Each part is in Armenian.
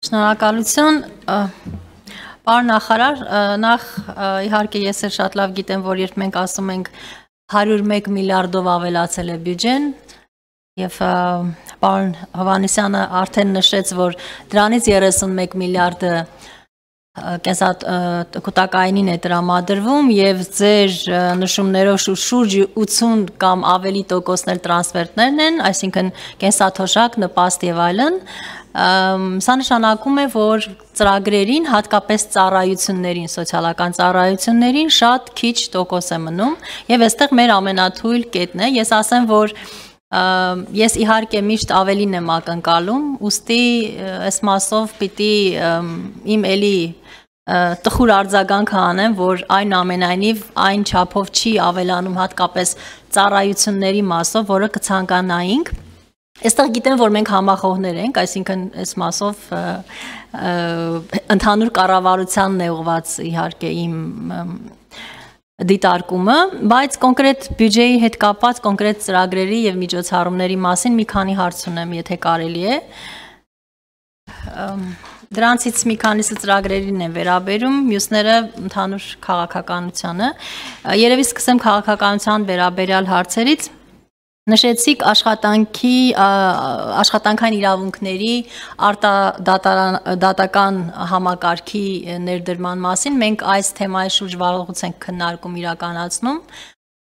Շնորհակալություն, պարոն նախարար, նախ իհարկե ես էլ շատ լավ գիտեմ, որ երբ մենք ասում ենք 101 միլիարդով ավելացել է բյուջեն եւ պարոն Հովհաննիսյանը արդեն նշեց, որ դրանից 31 միլիարդը կենսակութակայինին է տրամադրվում եւ ձեր նշումներով շուրջ 80 կամ ավելի տոկոսներ տրանսֆերտներն են, այսինքն կենսաթոշակ, նպաստ եւ այլն, սա նշանակում է, որ ծրագրերին, հատկապես ծառայություններին, սոցիալական ծառայություններին շատ քիչ տոկոս է մնում եւ այստեղ մեր ամենաթույլ կետն է, ես ասեմ, որ ես իհարկե միշտ ավելին եմ ակնկալում, ուստի այս մասով պիտի իմ էլի տխուր արձագանքը անեմ, որ այն ամենայնիվ այն չափով չի ավելանում հատկապես ծառայությունների մասով, որը կցանկանայինք։ Այստեղ գիտեմ, որ մենք համախոհներ ենք, այսինքն այս մասով ընդհանուր կառավարությանն է ուղղված իհարկե իմ դիտարկումը, բայց կոնկրետ բյուջեի հետ կապված կոնկրետ ծրագրերի եւ միջոցառումների մասին մի քանի հարց ունեմ, եթե կարելի է։ Դրանցից մի քանիսը ծրագրերին են վերաբերում, մյուսները ընդհանուր քաղաքականությանը։ Երևի սկսեմ քաղաքականության վերաբերյալ հարցերից։ Նշեցիք աշխատանքային իրավունքների արտադատական համակարգի ներդրման մասին, մենք այս թեմայի շուրջ վաղուց ենք քննարկում իրականացնում։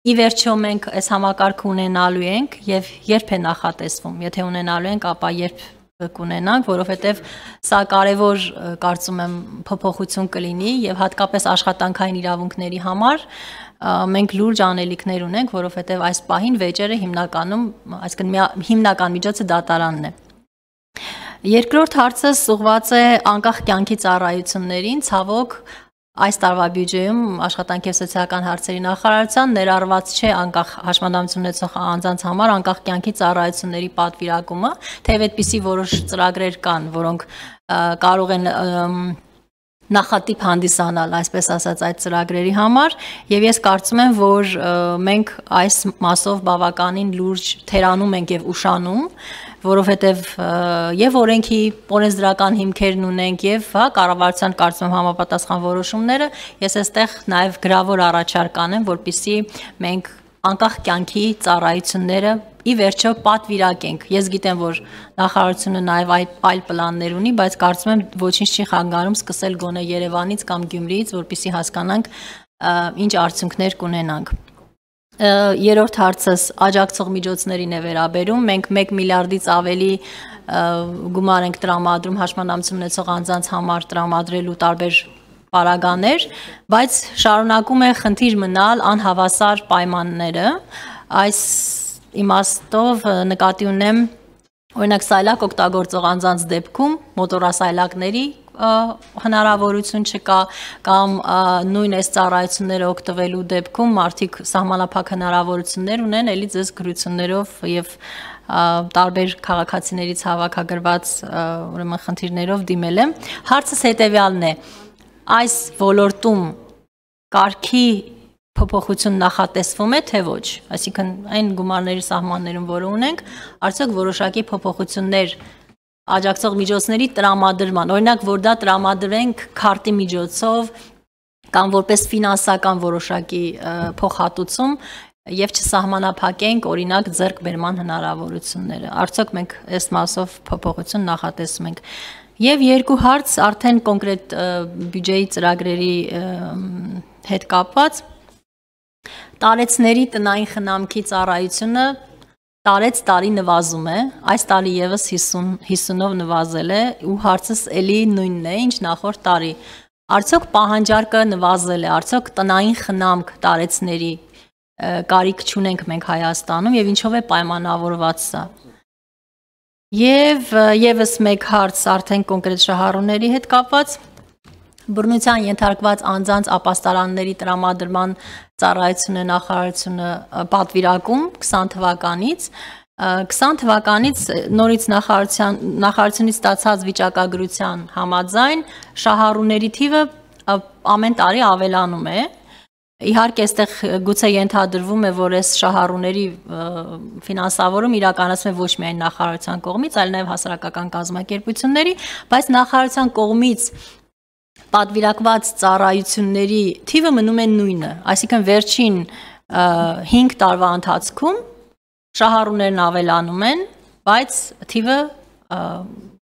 Ի վերջո մենք այս համակարգը ունենալու ենք եւ երբ է նախատեսվում, եթե ունենալու ենք, ապա երբ կունենանք, որովհետև սա կարևոր կարծում եմ փոփոխություն կլինի եւ հատկապես աշխատանքային իրավունքների համար մենք լուրջ անելիքներ ունենք, որովհետև այս պահին վեճերը հիմնականում, այսինքն հիմնական միջոցը դատարանն է։ Երկրորդ հարցս ուղղված է անկախ կյանքի ծառայություններին, ցավոք այս տարվա բյուջեում աշխատանքի եւ սոցիալական հարցերի նախարարության ներառված չէ անկախ հաշմանդամություն ունեցող անձանց համար անկախ կյանքի ծառայությունների պատվիրակումը, թեև այդպիսի որոշ ծրագրեր կան, որոնք կարող են նախատիպ հանդիսանալ, այսպես ասած, այդ ծրագրերի համար, եւ ես կարծում եմ, որ մենք այս մասով բավականին լուրջ թերանում ենք եւ ուշանում, որովհետև եւ օրենքի օրենսդրական հիմքերն ունենք եւ կառավարության կարծում եմ համապատասխան որոշումները, ես այստեղ նաեւ գրավոր առաջարկ անեմ, որպեսզի մենք անկախ կյանքի ծառայությունները ի վերջո պատվիրակենք։ Ես գիտեմ, որ նախարարությունը նաեւ այլ պլաններ ունի, բայց կարծում եմ ոչինչ չի խանգարում սկսել գոնե Երևանից կամ Գյումրիից, որպեսզի հասկանանք ինչ արդյունքներ կունենանք։ Երրորդ հարցս աջակցող միջոցներին է վերաբերում, մենք 1 միլիարդից ավելի գումար ենք տրամադրում հաշմանդամություն ունեցող անձանց համար տրամադրելու տարբեր պարագաներ, բայց շարունակում է խնդիր մնալ անհավասար պայմանները, այս իմաստով նկատի ունեմ օրինակ սայլակ օգտագործող անձանց դեպքում մոտորասայլակների հնարավորություն չկա կամ նույն այս ծառայությունները օգտվելու դեպքում մարդիկ սահմանափակ հնարավորություններ ունեն, էլի ձեզ գրություններով եւ տարբեր քաղաքացիներից հավաքագրված ուրեմն խնդիրներով դիմել եմ։ Հարցս հետեւյալն է. այս ոլորտում կարգի փոփոխություն նախատեսվում է, թե ոչ, այսինքն այն գումարների սահմաններում, որը ունենք, արդյոք որոշակի փոփոխություններ աջակցող միջոցների տրամադրման, օրինակ, որ դա տրամադրենք քարտի միջոցով կամ որպես ֆինանսական որոշակի փոխհատուցում եւ չսահմանափակենք օրինակ ձեռքբերման հնարավորությունները։ Արդյոք մենք այս մասով փոփոխություն նախատեսում ենք։ Եվ երկու հարց արդեն կոնկրետ բյուջեի ծրագրերի հետ կապված տարեցների տնային խնամքի ծառայությունը տարեց տարի նվազում է, այս տարի եւս 50-ով նվազել է ու հարցս էլի նույնն է, ինչ նախորդ տարի։ Արդյոք պահանջարկը նվազել է, արդյոք տնային խնամք տարեցների կարիք չունենք մենք Հայաստանում եւ ինչով է պայմանավորված սա։ Եվ եւս մեկ հարց արդեն կոնկրետ շահառուների հետ կապված բռնության ենթարկված անձանց ապաստարանների տրամադրման ծառայությունը նախարարությունը պատվիրակում 20 թվականից 20 թվականից նորից նախարարությունից ստացած վիճակագրության համաձայն շահառուների թիվը ամեն տարի ավելանում է Իհարկե, այստեղ գուցե ենթադրվում է, որ այս շահառուների ֆինանսավորում իրականացվում է ոչ միայն նախարարության կողմից, այլ նաև հասարակական կազմակերպությունների, բայց նախարարության կողմից պատվիրակված ծառայությունների թիվը մնում է նույնը, այսինքն վերջին 5 տարվա ընթացքում շահառուներն ավելանում են, բայց թիվը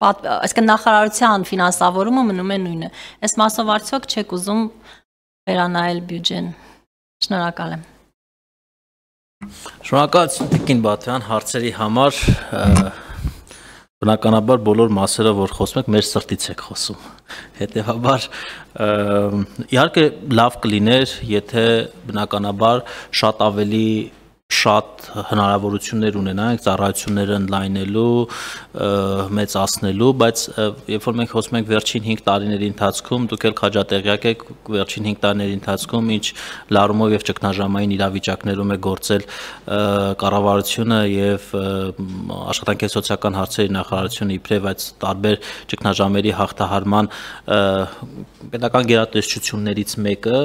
այսինքն նախարարության ֆինանսավորումը մնում է նույնը։ Այս մասով արդյոք չեք ուզում վերանայել բյուջեն։ Շնորհակալ եմ։ Շնորհակալություն Տիկին Բաթյան հարցերի համար։ Բնականաբար բոլոր մասերը, որ խոսում եք, մեր սրտից եք խոսում։ Հետևաբար իհարկե լավ կլիներ, եթե բնականաբար շատ ավելի շատ հնարավորություններ ունենանք ծառայությունները ընդլայնելու, մեծացնելու, բայց երբ որ մենք խոսում ենք վերջին 5 տարիների ընթացքում, դուք էլ քաջատեղյակ եք վերջին 5 տարիների ընթացքում, ինչ լարումով եւ ճգնաժամային իրավիճակներում է գործել կառավարությունը եւ աշխատանքի սոցիալական հարցերի նախարարությունը իբրև այդ տարբեր ճգնաժամերի հաղթահարման պետական գերատեսչություններից մեկը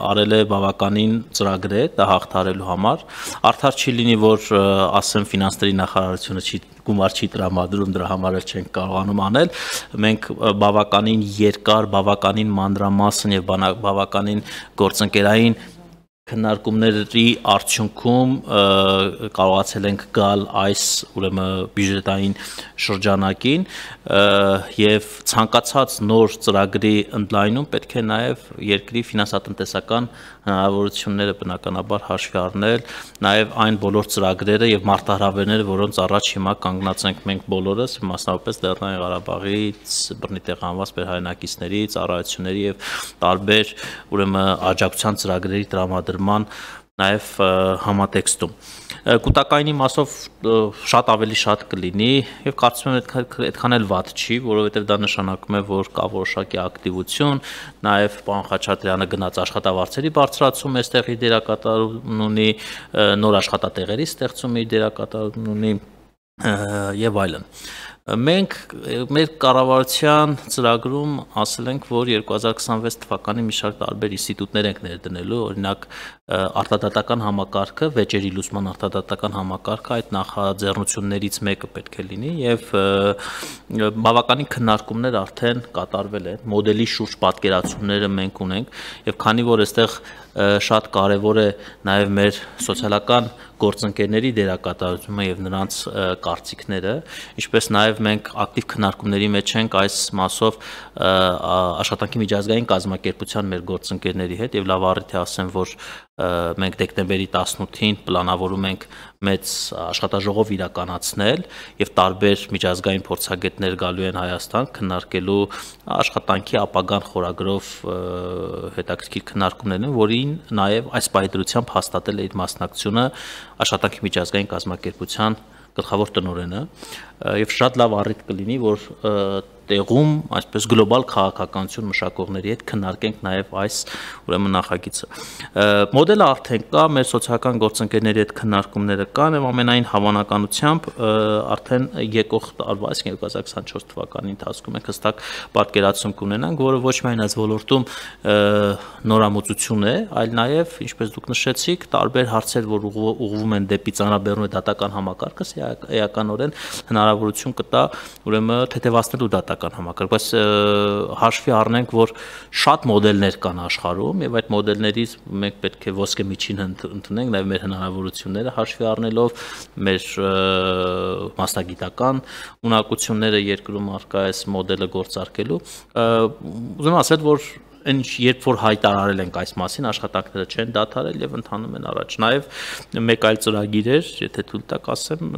արել է բավականին ծրագրեր դա հաղթահարելու համար արդար չի լինի որ ասեմ ֆինանսների նախարարությունը գումար չի տրամադրում դրա համար էլ չենք կարողանում անել մենք բավականին երկար բավականին մանրամասն եւ բավականին գործընկերային քննարկումների արդյունքում կարողացել ենք գալ այս ուրեմն բյուջետային շրջանակին եւ ցանկացած նոր ծրագրի ընդլայնում պետք է նաեւ երկրի ֆինանսատնտեսական հնարավորությունները բնականաբար հաշվի առնել նաեւ այն բոլոր ծրագրերը եւ մարտահրավերները որոնց առաջ հիմա կանգնած ենք մենք բոլորս մասնավորապես Լեռնային Ղարաբաղից բռնի տեղանված մեր հայրենակիցների ծառայությունների եւ տարբեր ուրեմն աջակցության ծրագրերի տրամադրման նաև համատեքստում կൂട്ടակայինի մասով շատ ավելի շատ կլինի եւ կարծում եմ այդքան էլ վատ չի, որովհետեւ դա նշանակում է, որ կա որոշակի ակտիվություն, նաև պարոն Խաչատրյանը գնաց աշխատավարձերի բարձրացում այստեղ իր դերակատարություն ունի, նոր աշխատատեղերի ստեղծում իր դերակատարություն ունի եւ այլն։ Մենք մեր կառավարության ծրագրում ասել ենք, որ 2026 թվականին մի շարք տարբեր ինստիտուտներ ենք ներդնելու, օրինակ արտադատական համակարգը, վեճերի լուսման արտադատական համակարգը այդ նախաձեռնություններից մեկը պետք է լինի եւ բավականին քննարկումներ արդեն կատարվել են, մոդելի շուրջ պատկերացումները մենք ունենք եւ քանի որ այստեղ շատ կարևոր է նաև մեր սոցիալական գործընկերների դերակատարությունը եւ նրանց կարծիքները, ինչպես նաև մենք ակտիվ քննարկումների մեջ ենք այս մասով աշխատանքի միջազգային կազմակերպության մեր գործընկերների հետ եւ լավ առիթ է ասեմ, որ մենք դեկտեմբերի 18-ին պլանավորում ենք մեծ աշխատաժողով իրականացնել եւ տարբեր միջազգային փորձագետներ գալու են Հայաստան քննարկելու աշխատանքի ապագան խորագրով հետաքրքիր քննարկումներ են, որին նաեւ այս պայդրությամբ հաստատել է իր մասնակցությունը աշխատանքի միջազգային կազմակերպության գլխավոր տնօրենը եւ շատ լավ առիթ կլինի, որ տեղում այսպես գլոբալ քաղաքականություն մշակողների հետ քննարկենք նաև այս ուրեմն նախագիծը։ Մոդելը արդեն կա, մեր սոցիալական գործընկերների հետ քննարկումները կան եւ ամենայն հավանականությամբ արդեն եկող տարվա 2024 թվականի ընթացքում մենք հստակ պատկերացում կունենանք, որը ոչ միայն այս ոլորտում նորամուծություն է, այլ նաև, ինչպես դուք նշեցիք, տարբեր հարցեր, որ ուղղվում են դեպի ծանրաբեռնու դատական համակարգը, էականորեն հնարավորություն կտա ուրեմն թեթևացնելու դատական համակարգ, բայց հաշվի առնենք, որ շատ մոդելներ կան աշխարհում եւ այդ մոդելներից մենք պետք է ոսկե միջինը ընդունենք, նաեւ մեր հնարավորությունները հաշվի առնելով, մեր մասնագիտական ունակությունները երկրում առկա այս մոդելը գործարկելու, ուզում ասել, որ երբ որ հայտարարել ենք այս մասին, աշխատանքները չեն դադարել եւ ընթանում են առաջ։ Նաեւ մեկ այլ ծրագիր էր, եթե թույլ տաք ասեմ,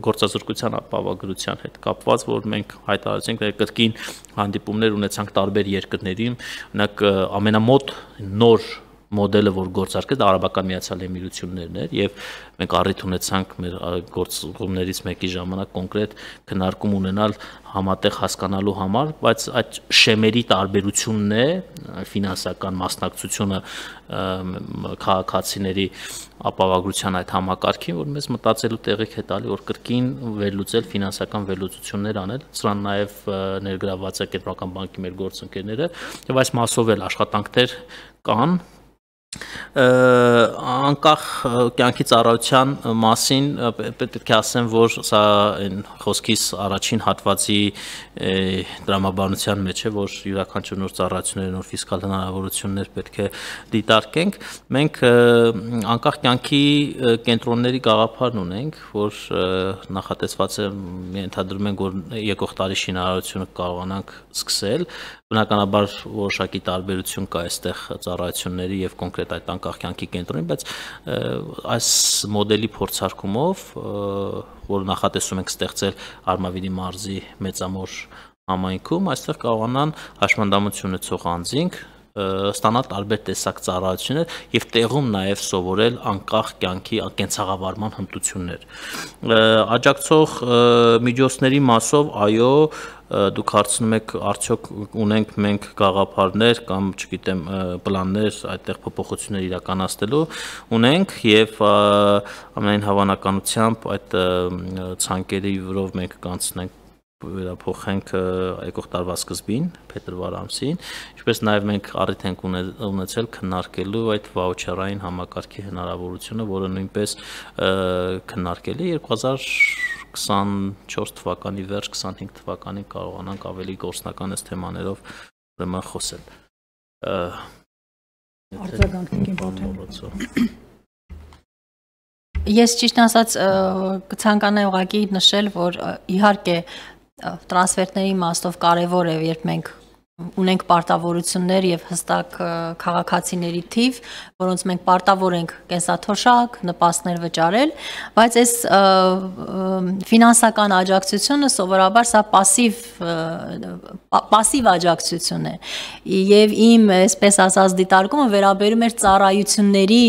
գործազրկության ապահովագրության հետ կապված, որ մենք հայտարարեցինք, կրկին հանդիպումներ ունեցանք տարբեր երկրների, օրինակ ամենամոտ նոր մոդելը, որ գործարկեց Արաբական Միացյալ Էմիրություններն էր եւ մենք առիթ ունեցանք մեր գործողումներից մեկի ժամանակ կոնկրետ քննարկում ունենալ համատեղ հասկանալու համար, բայց այդ շեմերի տարբերությունն է ֆինանսական մասնակցությունը քաղաքացիների ապահովագրության այդ համակարգին, որ մեզ մտածելու տեղիք է տալի, որ կրկին վերլուծել ֆինանսական վերլուծություններ անել, սրան նաև ներգրաված է Կենտրոնական բանկի մեր գործընկերները եւ այս մասով էլ աշխատանքներ կան անկախ կյանքի ծառայության մասին պետք է ասեմ, որ սա այն խոսքիս առաջին հատվածի դրամաբանության մեջ է, որ յուրաքանչյուր նոր ծառայությունների նոր ֆիսկալ հնարավորություններ պետք է դիտարկենք։ Մենք անկախ կյանքի կենտրոնների գաղափարն ունենք, որ նախատեսված է, ենթադրում ենք, որ եկող տարի շինարարությունը կարողանանք սկսել։ Բնականաբար որոշակի տարբերություն կա այստեղ ծառայությունների եւ կոնկրետ այդ անկախ կյանքի կենտրոնի, բայց այս մոդելի փորձարկումով, որ նախատեսում ենք ստեղծել Արմավիրի մարզի մեծամոր համայնքում, այստեղ կարողանան հաշմանդամություն ունեցող անձինք ստանալ տարբեր տեսակ ծառայություններ եւ տեղում նաեւ սովորել անկախ կյանքի կենցաղավարման հմտություններ։ Աջակցող միջոցների մասով, այո, դուք հարցնում եք, արդյոք ունենք մենք գաղափարներ կամ, չգիտեմ, պլաններ այդտեղ փոփոխություններ իրականացնելու, ունենք եւ ամենայն հավանականությամբ այդ ցանկերի վրով մենք կանցնենք վերափոխենք եկող տարվա սկզբին, փետրվար ամսին, ինչպես նաև մենք առիթ ենք ունեցել քննարկելու այդ վաուչերային համակարգի հնարավորությունը, որը նույնպես քննարկելի 2024 թվականի վերջ, 25 թվականին կարողանանք ավելի գործնական այս թեմաներով ուրեմն խոսել։ Արձագանքին պատմեմ։ Ես ճիշտ ասած կցանկանայի ուղղակի նշել, որ իհարկե տրանսֆերտների իմաստով կարևոր է, երբ մենք ունենք պարտավորություններ եւ հստակ քաղաքացիների թիվ, որոնց մենք պարտավոր ենք կենսաթոշակ, նպաստներ վճարել, բայց այս ֆինանսական աջակցությունը սովորաբար սա պասիվ աջակցություն է եւ իմ այսպես ասած դիտարկումը վերաբերում է ծառայությունների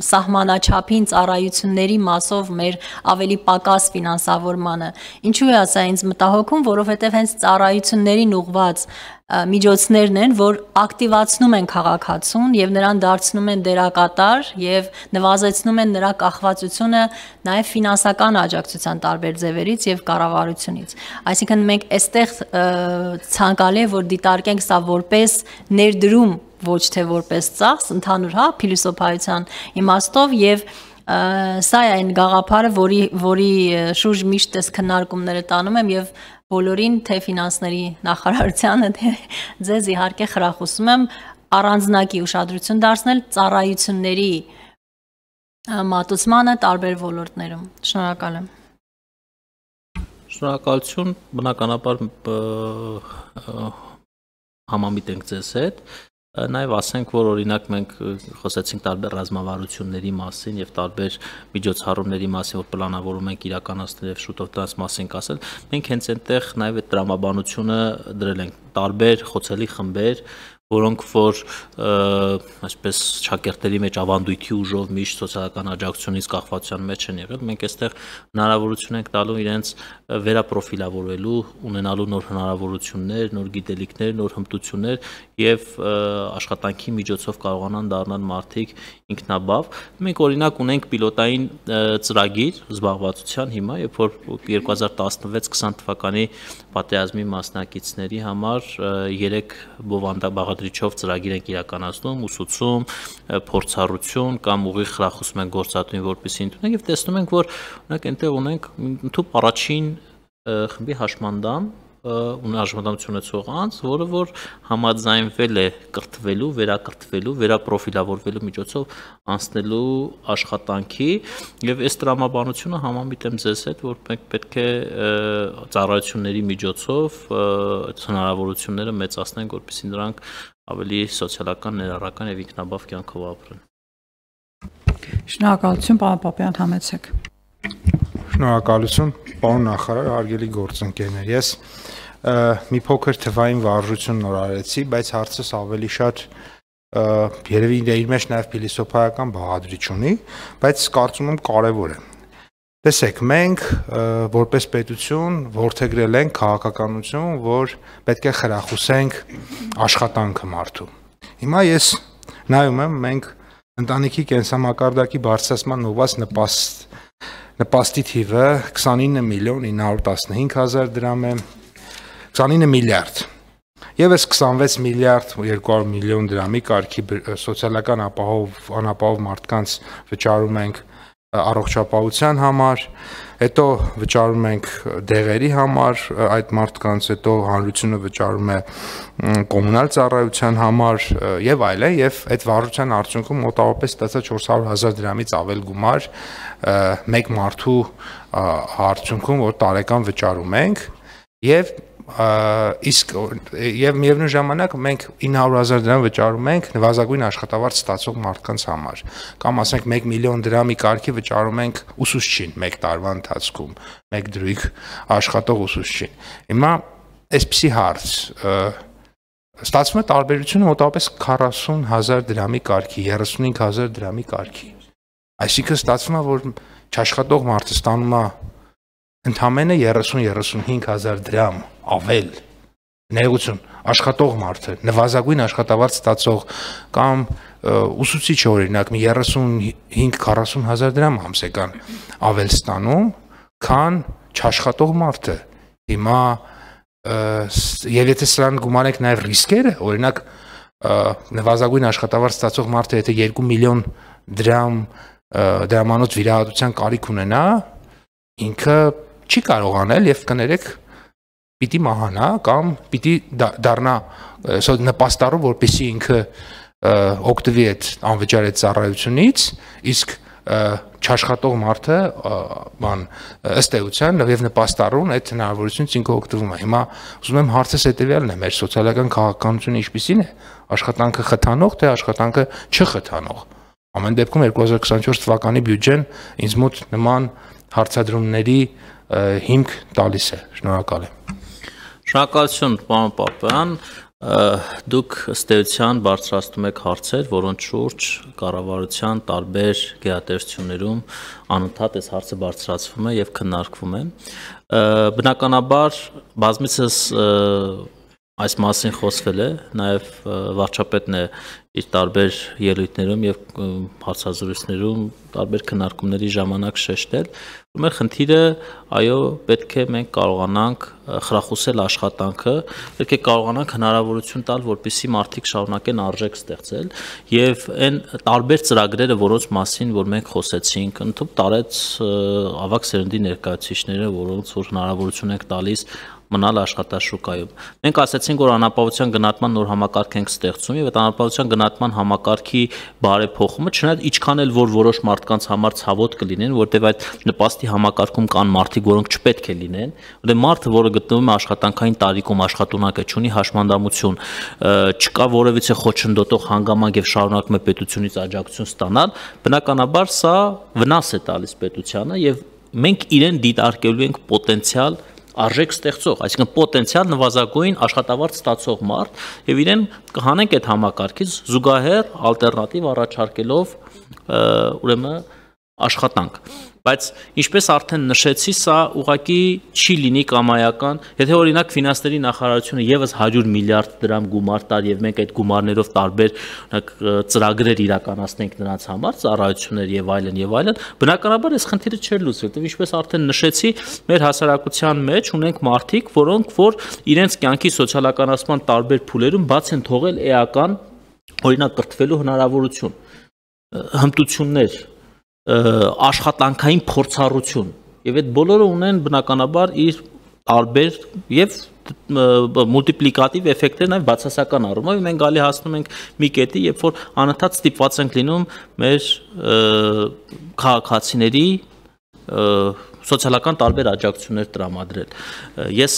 սահմանաչափին ծառայությունների մասով մեր ավելի պակաս ֆինանսավորմանը։ Ինչու է ասա ինձ մտահոգում, որովհետև հենց ծառայություններին ուղղված միջոցներն են, որ ակտիվացնում են քաղաքացուն եւ նրան դարձնում են դերակատար եւ նվազեցնում են նրա կախվածությունը նաեւ ֆինանսական աջակցության տարբեր ձևերից եւ կառավարությունից։ Այսինքն մենք այստեղ ցանկալի է, որ դիտարկենք սա որպես ներդրում, ոչ թե որպես ծախս, ընդհանուր փիլիսոփայության իմաստով եւ սա է այն գաղափարը, որի շուրջ միշտ այս քննարկումները տանում եմ եւ բոլորին թե ֆինանսների նախարարությանը թե ձեզ իհարկե խրախուսում եմ առանձնակի ուշադրություն դարձնել ծառայությունների մատուցմանը տարբեր ոլորտներում։ Շնորհակալ եմ։ Շնորհակալություն, բնականաբար համամիտ ենք ձեզ հետ։ Նաև ասենք, որ օրինակ մենք խոսեցինք տարբեր ռազմավարությունների մասին եւ տարբեր միջոցառումների մասին, որ պլանավորում ենք իրականացնել եւ շուտով դրանց մասին կասել, մենք հենց այնտեղ նաև այդ տրամաբանությունը դրել ենք տարբեր խոցելի խմբեր, որոնք որ այսպես շակերտների մեջ ավանդույթի ուժով միշտ սոցիալական աջակցությունից կախվածության մեջ են եղել, մենք այստեղ հնարավորություն ենք տալու իրենց վերապրոֆիլավորելու, ունենալու նոր հնարավորություններ, նոր գիտելիքներ, նոր հմտություններ եւ աշխատանքի միջոցով կարողանան դառնալ մարդիկ ինքնաբավ։ Մենք օրինակ ունենք պիլոտային ծրագիր զբաղվածության հիմա, երբ որ 2016-20 թվականի պատերազմի մասնակիցների համար 3 բովանդակաբաղադրիչով ծրագիր ենք իրականացնում, ուսուցում, փորձառություն կամ ուղիղ խրախուսում ենք գործատուին, որպեսզի ընդունեն եւ տեսնում ենք, որ օրինակ այնտեղ ունենք ընդհանուր առաջին խմբի հաշմանդամ հաշմանդամություն ունեցող անձ, որը որ համաձայնվել է կրթվելու, վերակրթվելու, վերապրոֆիլավորվելու միջոցով անցնելու աշխատանքի եւ այս տրամաբանությունը համամիտ եմ ձեզ հետ, որ մենք պետք է ծառայությունների միջոցով այդ հնարավորությունները մեծացնենք, որպեսզի նրանք ավելի սոցիալական, ներառական եւ ինքնաբավ կյանքով ապրեն։ Շնորհակալություն, պարոն Պապյան, համեցեք։ Շնորհակալություն, պարոն նախարար, հարգելի գործընկերներ։ Ես մի փոքր թվային վարժություն նորարեցի, բայց հարցս ավելի շատ երևի իր մեջ նաև փիլիսոփայական բաղադրիչ ունի, բայց կարծում եմ կարևոր է։ Տեսեք, մենք որպես պետություն որդեգրել ենք քաղաքականություն, որ պետք է խրախուսենք աշխատանքը մարդու։ Հիմա ես նայում եմ, մենք ընտանիքի կենսամակարդակի բարձրացման ուղղված նպաստի թիվը 29 միլիոն 915 հազար դրամ է, 29 միլիարդ։ Եվս 26 միլիարդ 200 միլիոն դրամի կարգի սոցիալական անապահով մարդկանց վճարում ենք առողջապահության համար, հետո վճարում ենք դեղերի համար այդ մարդկանց, հետո հանրությունը վճարում է կոմունալ ծառայության համար եւ այլն, եւ այդ վարժության արդյունքում մոտավորապես ստացա 400,000 դրամից ավել գումար մեկ մարդու արդյունքում, որ տարեկան վճարում ենք եւ իսկ եւ միևնույն ժամանակ մենք 900,000 դրամ վճարում ենք նվազագույն աշխատավարձ ստացող մարդկանց համար կամ ասենք 1 միլիոն դրամի կարգի վճարում ենք ուսուցչին մեկ տարվա ընթացքում մեկ դրույգ աշխատող ուսուցչին հիմա այսպիսի հարց ստացվում է տարբերությունը մոտավորապես 40,000 դրամի կարգի 35,000 դրամի կարգի այսինքն ստացվում է որ չաշխատող մարդը ստանում է ընդամենը 30-35,000 դրամ ավել ներողություն աշխատող մարդը նվազագույն աշխատավարձ ստացող կամ ուսուցիչ օրինակ մի 35-40,000 դրամ ամսական ավել ստանում քան չաշխատող մարդը հիմա եւ եթե սրան գումարենք նաեւ ռիսկերը օրինակ նվազագույն աշխատավարձ ստացող մարդը եթե 2 միլիոն դրամ դրամանոց վիրահատության կարիք ունենա ինքը չի կարող անել եւ կներեք պիտի մահանա կամ պիտի դառնա նպաստառու որպեսզի ինքը օգտվի այդ անվճար այդ ծառայությունից իսկ չաշխատող մարդը բան ըստ էության եւ նպաստառուն այդ հնարավորությունից ինքը օգտվում է հիմա ուզում եմ հարցս հետեւյալն է մեր սոցիալական քաղաքականությունը ինչպիսին է աշխատանքը խթանող թե աշխատանքը չխթանող ամեն դեպքում 2024 թվականի բյուջեն ինձ մոտ նման հարցադրումների հիմք տալիս է շնորհակալ եմ Շնորհակալություն պարոն Պապյան դուք ըստ էության բարձրացնում եք հարցեր որոնց շուրջ կառավարության տարբեր գերատեսչություններում անընդհատ այս հարցը բարձրացվում է եւ քննարկվում է բնականաբար բազմիցս այս մասին խոսվել է նաև վարչապետն է իր տարբեր ելույթներում եւ հարցազրույցներում տարբեր քննարկումների ժամանակ շեշտել ու մեր խնդիրը այո պետք է մենք կարողանանք խրախուսել աշխատանքը պետք է կարողանանք հնարավորություն տալ որպեսզի մարդիկ շարունակեն արժեք ստեղծել եւ այն տարբեր ծրագրերը որոնց մասին որ մենք խոսեցինք ընդհանուր տարեց ավագ սերնդի ներկայացուցիչները որոնց որ հնարավորություն ենք տալիս մնալ աշխատաշուկայում։ Մենք ասացինք, որ անապահովության գնահատման նոր համակարգ ենք ստեղծում եւ այդ անապահովության գնահատման համակարգի բարեփոխումը, չնայած ինչքան էլ որ որոշ մարդկանց համար ցավոտ կլինեն, որտեղ այդ նպաստի համակարգում կան մարդիկ, որոնք չպետք է լինեն, որտեղ մարդը, որը գտնվում է աշխատանքային տարիքում, աշխատունակ է, ունի հաշմանդամություն, չկա որևիցե խոչընդոտող հանգամանք եւ շարունակում է պետությունից աջակցություն ստանալ, բնականաբար սա վնաս է տալիս պետությանը եւ մենք իրեն դիտարկելու ենք պոտենցիալ արժեք ստեղծող, այսինքն պոտենցիալ նվազագույն աշխատավարձ ստացող մարդ եւ իրեն կհանենք այդ համակարգից զուգահեռ ալտերնատիվ առաջարկելով ուրեմն աշխատանք բայց ինչպես արդեն նշեցի սա ուղղակի չի լինի կամայական եթե օրինակ ֆինանսների նախարարությունը եւս 100 միլիարդ դրամ գումար տար եւ մենք այդ գումարներով տարբեր ծրագրեր իրականացնենք նրանց համար ծառայություններ եւ այլն բնականաբար այս խնդիրը չէր լուծվել որտեղ ինչպես արդեն նշեցի մեր հասարակության մեջ ունենք մարդիկ որոնք որ իրենց կյանքի սոցիալականացման տարբեր փուլերում բաց են թողել էական օրինակ կրթվելու հնարավորություն հմտություններ աշխատանքային փորձառություն եւ այդ բոլորը ունեն բնականաբար իր տարբեր եւ մուլտիպլիկատիվ էֆեկտներ նաեւ բացասական առումով մենք գալի հասնում ենք մի կետի երբ որ անընդհատ ստիպված ենք լինում մեր քաղաքացիների սոցիալական տարբեր աջակցություններ տրամադրել ես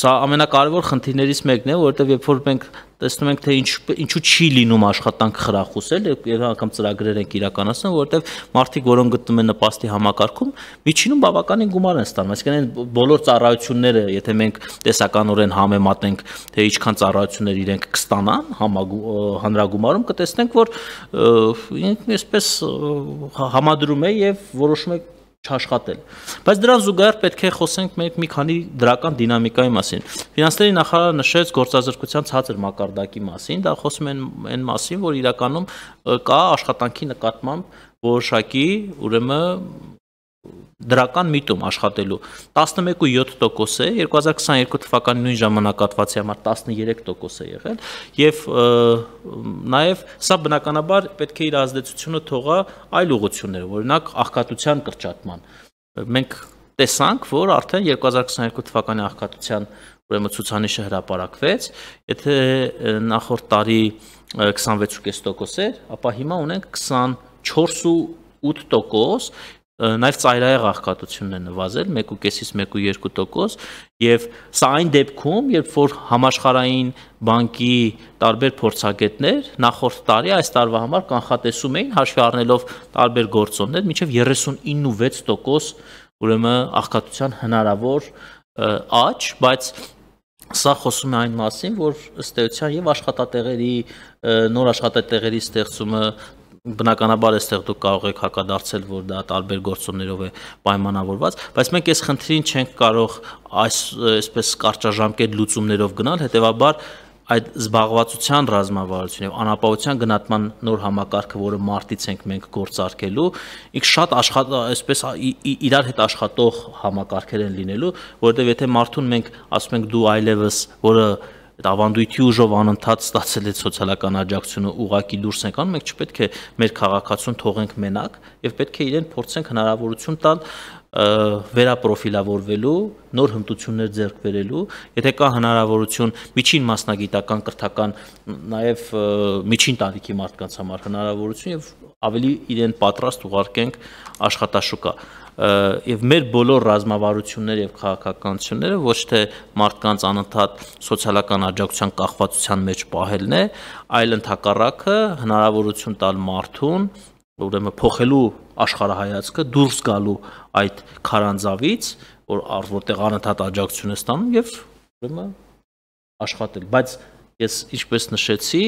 սա ամենակարևոր խնդիրներից մեկն է որովհետեւ երբ որ մենք տեսնում ենք թե ինչու չի լինում աշխատանք խրախուսել եւ անգամ ծրագրեր ենք իրականացնում որովհետեւ մարդիկ որոնք գտնում են նպաստի համակարգում միջինում բավականին գումար են ստանում այսինքն այն բոլոր ծառայությունները եթե մենք տեսականորեն համեմատենք թե ինչքան ծառայություններ իրենք կստանան հանրագումարում կտեսնենք որ այսպես համադրում է եւ որոշում է չաշխատել բայց դրան զուգահեռ պետք է խոսենք մենք մի քանի դրական դինամիկայի մասին ֆինանսների նախարարը նշեց գործազրկության ցածր մակարդակի մասին դա խոսում են այն մասին որ իրականում կա աշխատանքի նկատմամբ որոշակի ուրեմն դրական միտում աշխատելու 11.7% է, 2022 թվականի նույն ժամանակահատվածի համար 13% է եղել եւ նաեւ սա բնականաբար պետք է իր ազդեցությունը թողա այլ ուղղություններով, օրինակ աղքատության կրճատման։ Մենք տեսանք, որ արդեն 2022 թվականի աղքատության ուրեմն ցուցանիշը հրապարակվեց, եթե նախորդ տարի 26.5% էր, ապա հիմա ունենք 24.8%, նաև ծայրահեղ աղքատությունն է նվազել 1.5-ից 1.2% եւ սա այն դեպքում, երբ որ համաշխարհային բանկի տարբեր փորձագետներ նախորդ տարի այս տարվա համար կանխատեսում էին հաշվի առնելով տարբեր գործոններ մինչեւ 39.6% ուրեմն աղքատության հնարավոր աճ, բայց սա խոսում է այն մասին, որ ըստ էության եւ աշխատատեղերի նոր աշխատատեղերի ստեղծումը բնականաբար այստեղ դուք կարող եք հակադարձել, որ դա տարբեր գործոններով է պայմանավորված, բայց մենք այս խնդրին չենք կարող այսպես կարճաժամկետ լուծումներով գնալ, հետեւաբար այդ զբաղվածության ռազմավարություն եւ անապահովության գնահատման նոր համակարգը, որը մարտից ենք մենք գործարկելու, ինք շատ այսպես իրար հետ աշխատող համակարգեր են լինելու, որովհետեւ եթե մարդուն մենք ասում ենք դու այլևս, որը այդ ավանդույթի ուժով անընդհատ ստացել է սոցիալական աջակցությունը ուղակի դուրս ենք անում, մենք չպետք է մեր քաղաքացուն թողենք մենակ եւ պետք է իրեն փորձենք հնարավորություն տալ վերապրոֆիլավորվելու, նոր հմտություններ ձեռք բերելու, եթե կա հնարավորություն միջին մասնագիտական կրթական, նաև միջին տարիքի մարդկանց համար հնարավորություն եւ ավելի իրեն պատրաստ ուղարկենք աշխատաշուկա։ Եվ մեր բոլոր ռազմավարությունները եւ քաղաքականությունները ոչ թե մարդկանց անընդհատ սոցիալական աջակցության կախվածության մեջ պահելն է, այլ ընդհակառակը հնարավորություն տալ մարդուն ուրեմն փոխելու աշխարհայացքը, դուրս գալու այդ քարանձավից, որտեղ անընդհատ աջակցություն է ստանում եւ ուրեմն աշխատել, բայց ես ինչպես նշեցի,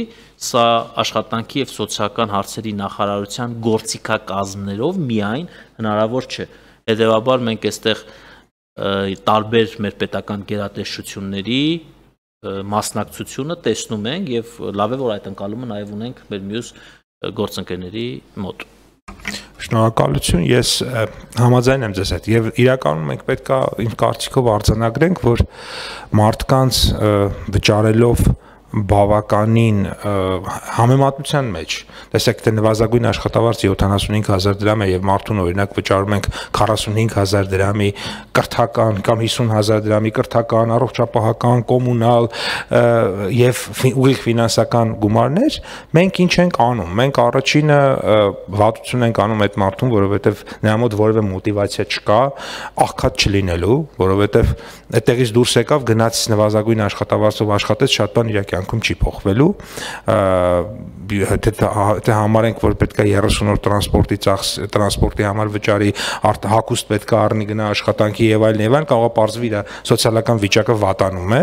սա աշխատանքի եւ սոցիալական հարցերի նախարարության գործիքակազմներով միայն հնարավոր չէ։ Հետևաբար մենք այստեղ տարբեր մեր պետական գերատեսչությունների մասնակցությունը տեսնում ենք եւ լավ է որ այդ ընկալումը նաեւ ունենք մեր մյուս գործընկերների մոտ։ Շնորհակալություն, ես համաձայն եմ ձեզ հետ եւ իրականում մենք պետքա իմ կարծիքով արձանագրենք, որ մարդկանց վճարելով բավականին համեմատության մեջ, տեսեք թե նվազագույն աշխատավարձ 75000 դրամ է եւ մարդուն օրինակ վճարում ենք 45000 դրամի կրթական կամ 50000 դրամի կրթական, առողջապահական, կոմունալ եւ ուղիղ ֆինանսական գումարներ, մենք ինչ ենք անում, մենք առաջինը վատություն ենք անում այդ մարդուն, որովհետեւ նրա մոտ որևէ մոտիվացիա չկա աղքատ չլինելու, որովհետեւ այդտեղից դուրս եկավ գնաց նվազագույն աշխատավարձով աշխատեց, շատ բան իր կյանքում չի փոխվելու, թե համարենք, որ պետք է 30 օր տրանսպորտի համար վճարի, հագուստ պետք է առնի գնա աշխատանքի եւ այլն, կարող է պարզվի իր սոցիալական վիճակը վատանում է,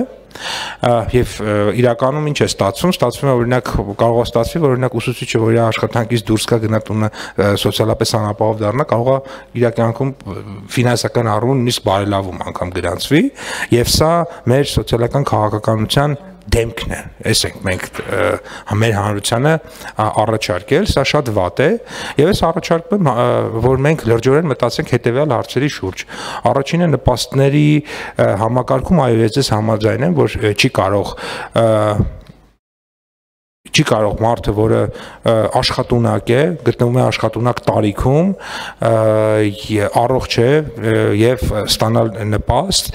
եւ իրականում ինչ է ստացվում, ստացվում է օրինակ կարող է ստացվի, որ օրինակ ուսուցիչը, որ իր աշխատանքից դուրս գա գնա տունը սոցիալապես անապահով դառնա, կարող է իր կյանքում ֆինանսական առումով նույնիսկ բարելավում անգամ գրանցվի, եւ սա մեր սոցիալական քաղաքականության դեմքն է, այս ենք մենք մեր հանրությանը առաջարկել, սա շատ վատ է եւ ես առաջարկում եմ, որ մենք լրջորեն մտածենք հետեւյալ հարցերի շուրջ։ Առաջինը նպաստների համակարգում այո ես համաձայն եմ, որ չի կարող մարդը, որը աշխատունակ է, գտնվում է աշխատունակ տարիքում, առողջ է եւ ստանալ նպաստ,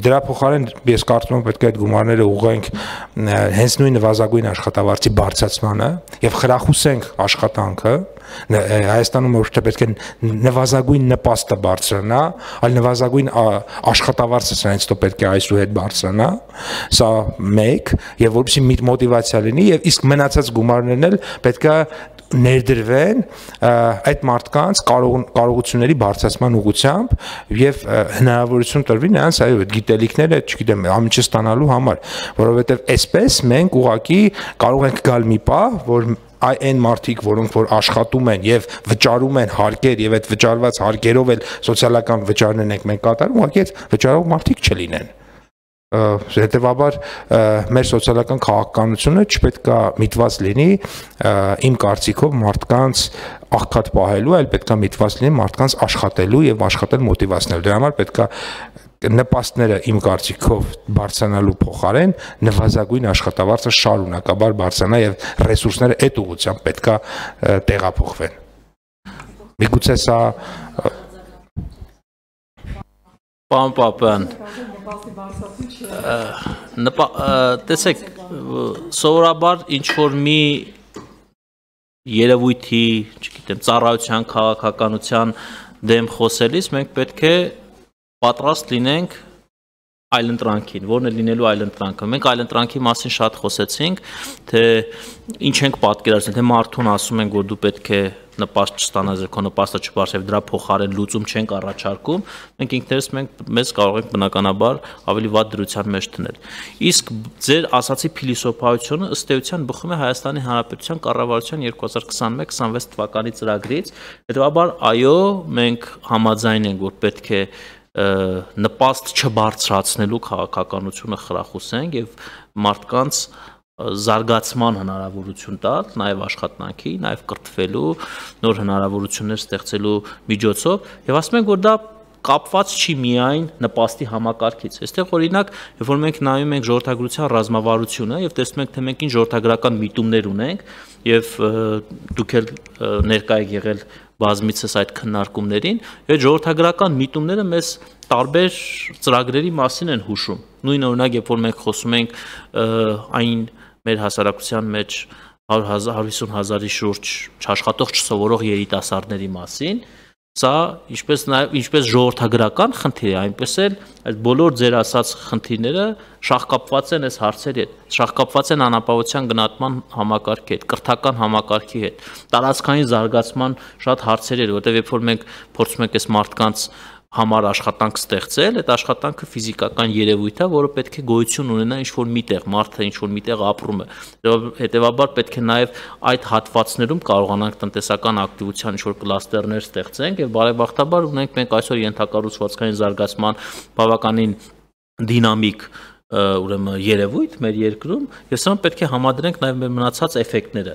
դրա փոխարեն ես կարծում եմ պետք է այդ գումարները ուղղենք հենց նույն նվազագույն աշխատավարձի բարձրացմանը եւ խրախուսենք աշխատանքը, Հայաստանում ոչ թե պետք է նվազագույն նպաստը բարձրանա, այլ նվազագույն աշխատավարձը սրանից պետք է այսուհետ բարձրանա, սա մեկ, եւ որպեսզի մոտիվացիա լինի եւ իսկ մնացած գումարներն էլ պետք է ներդրվեն այդ մարդկանց կարողությունների բարձրացման ուղղությամբ եւ հնարավորություն տրվի նրանց այո այդ գիտելիքները, չգիտեմ, ամիջը ստանալու համար, որովհետեւ այսպես մենք ուղղակի կարող ենք գալ մի պահ, որ այն մարդիկ, որոնք որ աշխատում են եւ վճարում են հարկեր եւ այդ վճարված հարկերով էլ սոցիալական վճարներն ենք մենք կատարում, ուղղակի այդ վճարող մարդիկ չլինեն։ Հետևաբար մեր սոցիալական քաղաքականությունը չպետք է միտված լինի իմ կարծիքով մարդկանց աղքատ պահելու, այլ պետք է միտված լինի մարդկանց աշխատելու եւ աշխատել մոտիվացնելու։ Դրա համար պետք է նպաստները իմ կարծիքով բարձրանալու փոխարեն նվազագույն աշխատավարձը շարունակաբար բարձրանա եւ ռեսուրսները այդ ուղղությամբ պետք է տեղափոխվեն։ Միգուցե սա Պարոն Պապյան, տեսեք, սովորաբար ինչ-որ մի երևույթի, չգիտեմ, ծառայության, քաղաքականության դեմ խոսելիս մենք պետք է պատրաստ լինենք այլընտրանքին, որն է լինելու այլընտրանքը։ Մենք այլընտրանքի մասին շատ խոսեցինք, թե ինչ ենք պատկերացնել, թե մարդուն ասում ենք, որ դու պետք է նպաստ չստանաս, քո նպաստը չբարձր, դրա փոխարեն լուծում չենք առաջարկում, մենք ինքներս մեզ կարող ենք բնականաբար ավելի վատ դրության մեջ դնել։ Իսկ ձեր ասացի փիլիսոփայությունը ըստ էության բխում է Հայաստանի Հանրապետության կառավարության 2021-26 թվականի ծրագրից, հետևաբար այո, մենք համաձայն ենք, որ պետք է նպաստ չբարձրացնելու քաղաքականությունը խրախուսենք եւ մարդկանց զարգացման հնարավորություն տալ, նաև աշխատանքի, նաև կրթվելու, նոր հնարավորություններ ստեղծելու միջոցով եւ ասում ենք, որ դա կապված չի միայն նպաստի համակարգից։ Այստեղ օրինակ, երբ որ մենք նայում ենք ժողովրդագրության ռազմավարությունը եւ տեսնում ենք, թե մենք ինչ ժողովրդագրական միտումներ ունենք եւ դուք էլ ներկայ եք եղել բազմիցս այդ քննարկումներին, այդ ժողովրդագրական միտումները մեզ տարբեր ծրագրերի մասին են հուշում։ Նույն օրինակ, երբ որ մենք խոսում ենք այն մեր հասարակության մեջ 150,000-ի շուրջ չաշխատող չսովորող երիտասարդների մասին, սա ինչպես ժողովրդագրական խնդիր է, այնպես էլ այդ բոլոր ձեր ասած խնդիրները շահկապված են այս հարցերի հետ, շահկապված են անապահովության գնահատման համակարգի հետ, կրթական համակարգի հետ, տարածքային զարգացման շատ հարցերի հետ, որտեղ երբ որ մենք փորձում ենք այս մարդկանց համար աշխատանք ստեղծել, այդ աշխատանքը ֆիզիկական երևույթ է, որը պետք է գոյություն ունենա ինչ-որ միտեղ, մարդը ինչ-որ միտեղ ապրում է։ Հետևաբար պետք է նաև այդ հատվածներում կարողանանք տնտեսական ակտիվության ինչ-որ կլաստերներ ստեղծենք եւ բարեբախտաբար ունենք մենք այսօր ենթակառուցվածքային զարգացման բավականին դինամիկ ուրեմն երևույթ մեր երկրում, եւ սա պետք է համադրենք նաև մեր մնացած էֆեկտները։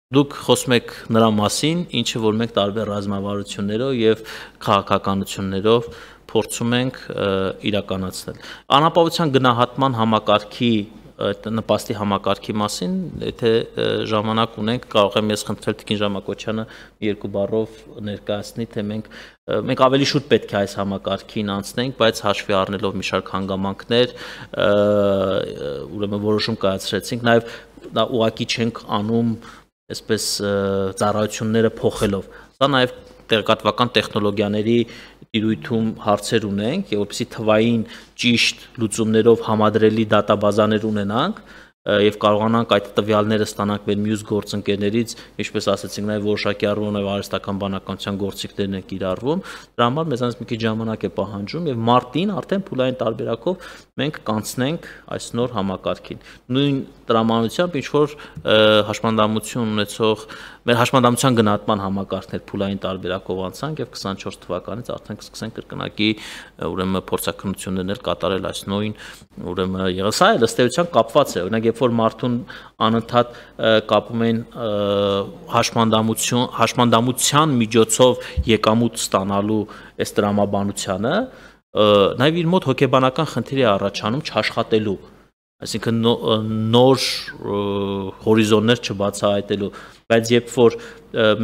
Դուք խոսում եք նրա մասին, ինչը որ մենք տարբեր ռազմավարություններով եւ քաղաքականություններով փորձում ենք իրականացնել։ Անապահովության գնահատման համակարգի նպաստի համակարգի մասին, եթե ժամանակ ունենք, կարող եմ ես խնդրել Տիկին Ժամակոչյանը երկու բառով ներկայացնի, թե մենք ավելի շուտ պետք է այս համակարգին անցնենք, բայց հաշվի առնելով մի շարք հանգամանքներ, ուրեմն որոշում կայացրեցինք, նաեւ դա ուղղակի չենք անում այսպես ծառայությունները փոխելով։ Սա նաև տեղեկատվական տեխնոլոգիաների տիրույթում հարցեր ունենք, եւ որպեսզի թվային ճիշտ լուծումներով համադրելի դատաբազաներ ունենանք եւ կարողանանք այդ տվյալները ստանանք մեր մյուս գործընկերներից, ինչպես ասացինք, նաև որոշակի առումով նաև արհեստական բանականության գործիքներն են կիրառվում, դրա համար մեզանից մի քիչ ժամանակ է պահանջում եւ մարտին արդեն փուլային տարբերակով մենք կանցնենք այս նոր համակարգին։ Նույն տրամանությամբ ինչ որ հաշմանդամություն ունեցող մեր հաշմանդամության գնահատման համակարգներ փուլային տարբերակով անցանք եւ 24 թվականից արդեն կսկսենք կրկնակի ուրեմն փորձակնություններ կատարել այս նույն ուրեմն եղեսա է ըստեյության կապված է, օրինակ երբ որ մարդուն անընդհատ կապում են հաշմանդամության միջոցով եկամուտ ստանալու այս տրամաբանությանը, նաև իր մոտ հոգեբանական խնդիր է առաջանում չաշխատելու, այսինքն նոր հորիզոններ չբացահայտելու, բայց երբ որ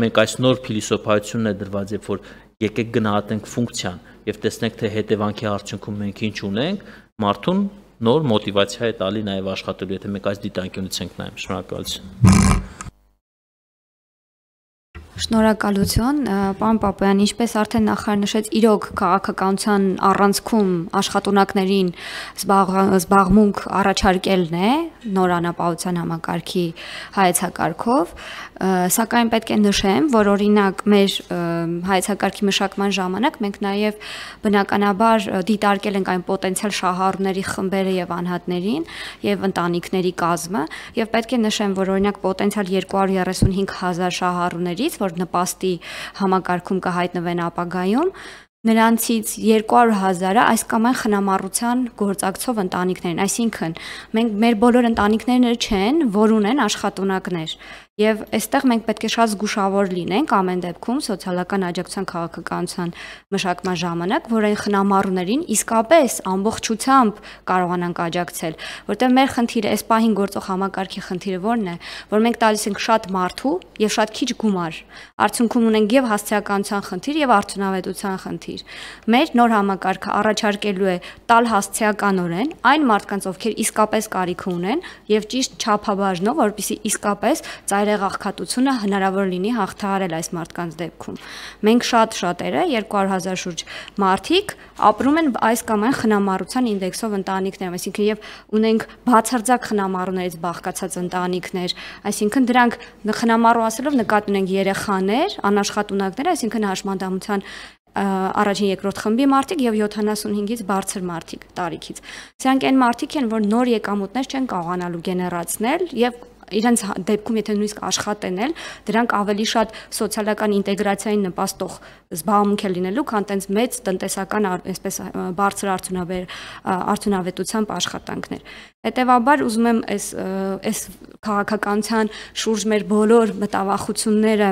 մենք այս նոր փիլիսոփայությունն է դրված, երբ որ եկեք գնահատենք ֆունկցիան եւ տեսնենք թե հետևանքի արդյունքում մենք ինչ ունենք, մարդուն նոր մոտիվացիա է տալի նաև աշխատելու, եթե մենք այս դիտանկյունից ենք նայում։ Շնորհակալություն։ Շնորհակալություն, պարոն Պապյան, ինչպես արդեն նախարար նշեց, իրոք քաղաքականության առանցքում աշխատունակներին զբաղմունք առաջարկելն է նոր անապահովության համակարգի հայեցակարգով, սակայն պետք է նշեմ, որ օրինակ մեր հայեցակարգի մշակման ժամանակ մենք նաև բնականաբար դիտարկել ենք այն պոտենցիալ շահառուների խմբերը եւ անհատներին եւ ընտանիքների կազմը, եւ պետք է նշեմ, որ օրինակ պոտենցիալ 235,000 շահառուներից, որ նպաստի համակարգում կհայտնվեն ապագայում, նրանցից 200,000-ը այս կամ այն խնամառության գործակցով ընտանիքներն, այսինքն մենք մեր բոլոր ընտանիքները չեն, որ ունեն աշխատունակներ։ Եվ այստեղ մենք պետք է շատ զգուշավոր լինենք ամեն դեպքում սոցիալական աջակցության քաղաքականության մշակման ժամանակ, որ այն խնամառուներին իսկապես ամբողջությամբ կարողանանք աջակցել, որտեղ մեր խնդիրը, այս պահին գործող համակարգի խնդիրը որն է, որ մենք տալիս ենք շատ մարդու եւ շատ քիչ գումար։ Արդյունքում ունենք եւ հասցեականության խնդիր եւ արդյունավետության խնդիր։ Մեր նոր համակարգը առաջարկելու է տալ հասցեականորեն այն մարդկանց, ովքեր իսկապես կարիք ունեն եւ ճիշտ չափաբաժնով, որպեսզի իսկապես աղքատությունը հնարավոր լինի հաղթահարել այս մարդկանց դեպքում։ Մենք շատերը 200,000 շուրջ մարդիկ ապրում են այս կամ այն խնամառության ինդեքսով ընտանիքներում, այսինքն եւ ունենք բացարձակ խնամառուներից բաղկացած ընտանիքներ, այսինքն դրանք խնամառու ասելով նկատի ունենք երեխաներ, անաշխատունակներ, այսինքն հաշմանդամության առաջին երկրորդ խմբի մարդիկ եւ 75-ից բարձր մարդիկ տարիքից։ Սրանք այն մարդիկ են, որ նոր եկամուտներ չեն կարողանալու գեներացնել եւ իրենց դեպքում եթե նույնիսկ աշխատեն էլ դրանք ավելի շատ սոցիալական ինտեգրացիային նպաստող զբաղմունք է լինելու, քան տենց մեծ տնտեսական այսպես բարձր արդյունավետությամբ աշխատանքներ։ Հետևաբար ուզում եմ այս քաղաքականության շուրջ մեր բոլոր մտավախությունները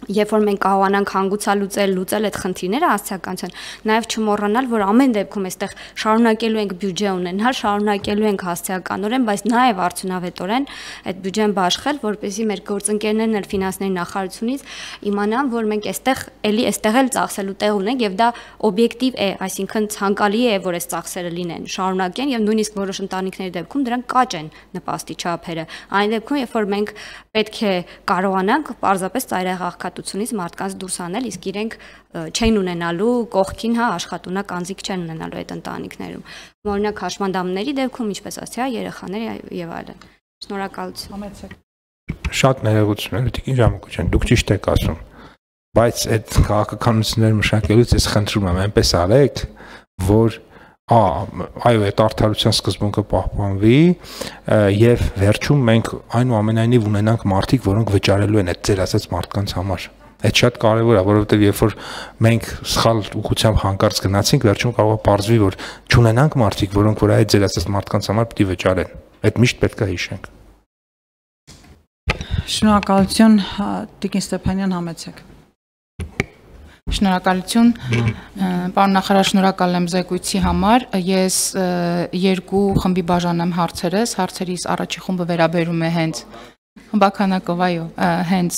երբ որ մենք կարողանանք լուծել այդ խնդիրները հասցեականության, նաև չմոռանալ, որ ամեն դեպքում այստեղ շարունակելու ենք բյուջե ունենալ, շարունակելու ենք հասցեականորեն, բայց նաև արդյունավետորեն այդ բյուջեն բաշխել, որպեսզի մեր գործընկերներն էլ ֆինանսների նախարարությունից իմանան, որ մենք այստեղ էլ ծախսելու տեղ ունենք եւ դա օբյեկտիվ է, այսինքն ցանկալի է, որ այս ծախսերը լինեն, շարունակեն եւ նույնիսկ որոշ ընտանիքների դեպքում դրանք կաճ են նպաստի չափերը։ Այն դեպքում, երբ որ մենք պետք է կարողանանք պարզապես ծայրահեղությունից մարդկանց դուրս անել, իսկ իրենք չեն ունենալու կողքին, աշխատունակ անձիկ չեն ունենալու այդ ընտանիքներում։ Օրինակ հաշմանդամների դեպքում, ինչպես ասացի, երեխաներ եւ այլն։ Շնորհակալություն։ Շատ ներողություն, Տիկին Ժամակոչյան, դուք ճիշտ եք ասում, բայց այդ քաղաքականությունները մշակելուց ես խնդրում եմ, այնպես արեք, որ այո, այդ արդարության սկզբունքը պահպանվի եւ վերջում մենք այնուամենայնիվ ունենանք մարդիկ, որոնք վճարելու են այդ ձեր ասած մարդկանց համար։ Այդ շատ կարևոր է, որովհետեւ երբ որ մենք սխալ ուղղությամբ հանկարծ գնացինք, վերջում կարող է պարզվի, որ չունենանք մարդիկ, որոնք որ այդ ձեր ասած մարդկանց համար պիտի վճարեն։ Այդ միշտ պետք է հիշենք։ Շնորհակալություն, Տիկին Ստեփանյան, համեցեք։ Շնորհակալություն, պարոն նախարար, շնորհակալ եմ զեկույցի համար։ Ես երկու խմբի բաժանեմ հարցերս, հարցերիս առաջի խումբը վերաբերում է հենց Բաքանակով, այո, հենց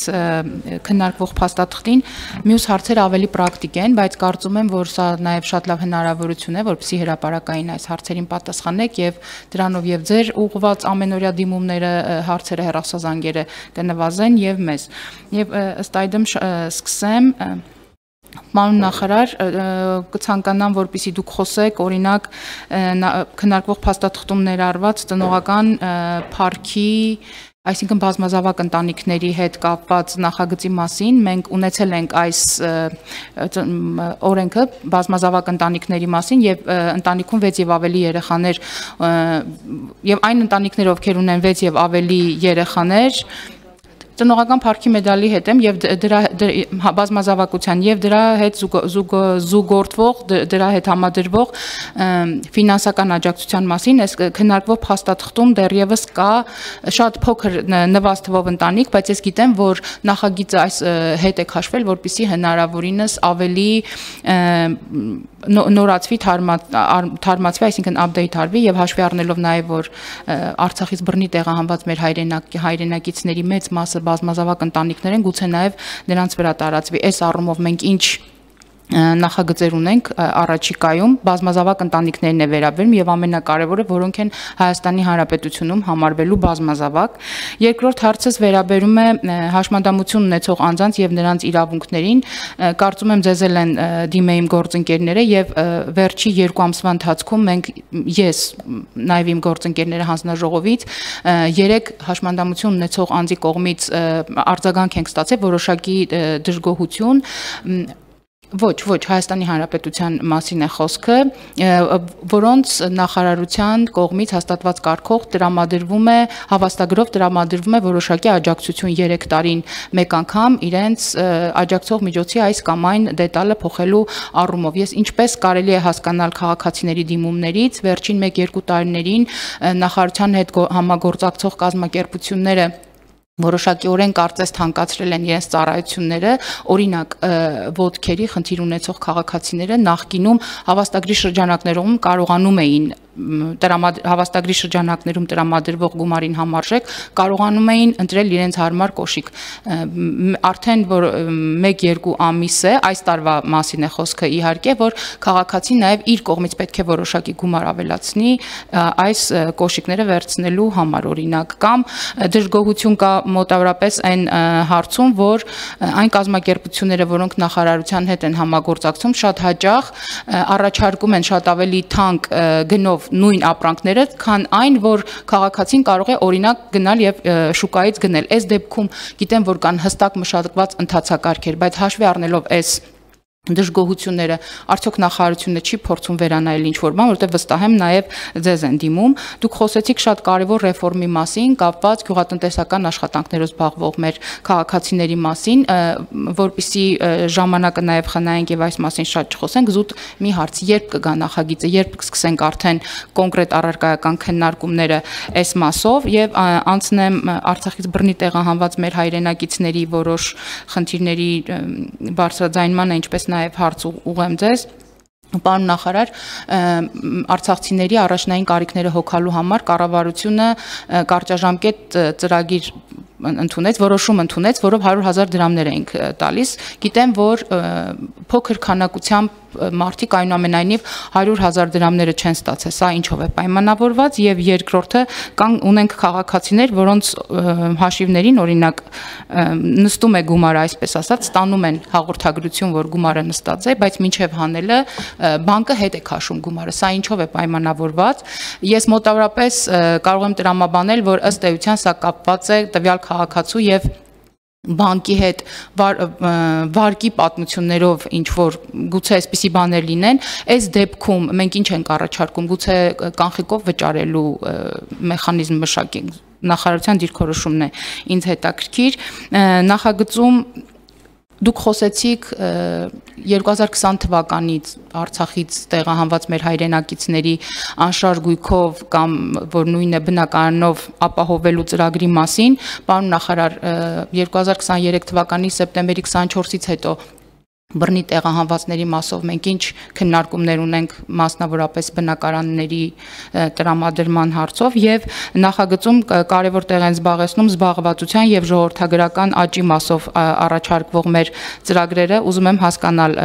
քննարկվող փաստաթղթին, մյուս հարցերը ավելի պրակտիկ են, բայց կարծում եմ, որ սա նաև շատ լավ հնարավորություն է, որպեսզի հրապարակային այս հարցերին պատասխանեք եւ դրանով եւ ձեր ուղղված ամենօրյա դիմումները, հարցերը, հեռախոսազանգերը կնվազեն եւ մեզ։ Եվ ըստ այդմ սկսեմ Պարոն նախարար, կցանկանամ, որպեսզի դուք խոսեք, օրինակ քննարկվող փաստաթղթում ներառված ծնողական փառքի, այսինքն բազմազավակ ընտանիքների հետ կապված նախագծի մասին, մենք ունեցել ենք այս օրենքը բազմազավակ ընտանիքների մասին եւ ընտանիքում 6 եւ ավելի երեխաներ եւ այն ընտանիքները, ովքեր ունեն 6 եւ ավելի երեխաներ ծնողական փառքի մեդալի հետ եմ եւ դրա բազմազավակության եւ դրա հետ զուգորդվող դրա հետ համադրվող ֆինանսական աջակցության մասին այս քննարկվող փաստաթղթում դեռևս կա շատ փոքր նվազ թվով ընտանիք, բայց ես գիտեմ, որ նախագիծը այս հետ է քաշվել, որպեսզի հնարավորինս ավելի նորացվի, թարմացվի, այսինքն update արվի եւ հաշվի առնելով նաեւ որ Արցախից բռնի տեղահանված մեր հայրենակիցների մեծ մասը բազմազավակ ընտանիքներ են, գուցե նաև նրանց վրա տարածվի։ Այս առումով մենք ինչ նախագծեր ունենք առաջիկայում, բազմազավակ ընտանիքներն է վերաբերում եւ ամենակարևորը, որոնք են Հայաստանի Հանրապետությունում համարվելու բազմազավակ։ Երկրորդ հարցս վերաբերում է հաշմանդամություն ունեցող անձանց եւ նրանց իրավունքներին։ Կարծում եմ ձեզ էլ են դիմել իմ գործընկերները եւ վերջի 2 ամսվա ընթացքում մենք ես նաեւ իմ գործընկերները հանձնաժողովից 3 հաշմանդամություն ունեցող անձի կողմից արձագանք ենք ստացել որոշակի դժգոհություն Ոչ, Հայաստանի Հանրապետության մասին է խոսքը, որոնց նախարարության կողմից հաստատված կարգով տրամադրվում է հավաստագրով տրամադրվում է որոշակի աջակցություն 3 տարին մեկ անգամ իրենց աջակցող միջոցի այս կամ այն դետալը փոխելու առումով։ Ես ինչպես կարելի է հասկանալ քաղաքացիների դիմումներից վերջին 1-2 տարիներին նախարարության հետ համագործակցող կազմակերպությունները որոշակիորեն կարծես թանկացրել են իրենց ծառայությունները, օրինակ ոդքերի խնդիր ունեցող քաղաքացիները նախկինում հավաստագրի շրջանակներում կարողանում էին հավաստագրի շրջանակներում տրամադրվող գումարին համարժեք կարողանում էին ընտրել իրենց հարմար կոշիկ։ Արդեն որ 1-2 ամիս է, այս տարվա մասին է խոսքը իհարկե, որ քաղաքացին նաև իր կողմից պետք է որոշակի գումար ավելացնի այս կոշիկները վերցնելու համար, օրինակ, կամ դժգոհություն կա մոտավորապես այն հարցում, որ այն կազմակերպությունները, որոնք նախարարության հետ են համագործակցում, շատ հաճախ առաջարկում են շատ ավելի թանկ գնով նույն ապրանքները, քան այն, որ քաղաքացին կարող է օրինակ գնալ եւ շուկայից գնել։ Այս դեպքում գիտեմ, որ կան հստակ մշակված ընթացակարգեր, բայց հաշվի առնելով այս դժգոհությունները, արդյոք նախարարությունը չի փորձում վերանայել ինչ-որ բան, որովհետև վստահ եմ նաև ձեզ են դիմում։ Դուք խոսեցիք շատ կարևոր ռեֆորմի մասին, կապված գյուղատնտեսական աշխատանքներով զբաղվող մեր քաղաքացիների մասին, որպեսզի ժամանակը նաև խնայենք եւ այս մասին շատ չխոսենք, զուտ մի հարց, երբ կգա նախագիծը, երբ կսկսենք արդեն կոնկրետ առարկայական քննարկումները այս մասով եւ անցնեմ Արցախից բռնի տեղահանված մեր հայրենակիցների որոշ խնդիրների բարձրաձայնմանը, ինչպես նաև հարց ուղղեմ ձեզ։ Պարոն նախարար, արցախցիների առաջնային կարիքները հոգալու համար կառավարությունը կարճաժամկետ ծրագիր ընդունեց, որոշում ընդունեց, որով 100,000 դրամներ էինք տալիս։ Գիտեմ, որ փոքր քանակությամբ մարդիկ այնուամենայնիվ 100,000 դրամները չեն ստացել։ Սա ինչով է պայմանավորված եւ երկրորդը ունենք քաղաքացիներ, որոնց հաշիվներին օրինակ նստում է գումարը, այսպես ասած, ստանում են հաղորդագրություն, որ գումարը նստած է, բայց մինչեւ հանելը բանկը հետ է քաշում գումարը։ Սա ինչով է պայմանավորված։ Ես մոտավորապես կարող եմ տրամաբանել, որ ըստ էության սա կապված է տվյալ քաղաքացու եւ բանկի հետ վարկի պատմություններով ինչ որ գուցե այսպիսի բաներ լինեն, այս դեպքում մենք ինչ ենք առաջարկում, գուցե կանխիկով վճարելու մեխանիզմ մշակենք, նախարարության դիրքորոշումն է ինձ հետաքրքիր, նախագծում դուք խոսեցիք 2020 թվականից Արցախից տեղահանված մեր հայրենակիցների անշարժ գույքով կամ որ նույնը բնակարանով ապահովելու ծրագրի մասին, պարոն նախարար, 2023 թվականի սեպտեմբերի 24-ից հետո բռնի տեղահանվածների մասով մենք ինչ քննարկումներ ունենք մասնավորապես բնակարանների տրամադրման հարցով եւ նախագծում կարևոր տեղ են զբաղեցնում զբաղվածության եւ ժողովրդագրական աճի մասով առաջարկվող մեր ծրագրերը, ուզում եմ հասկանալ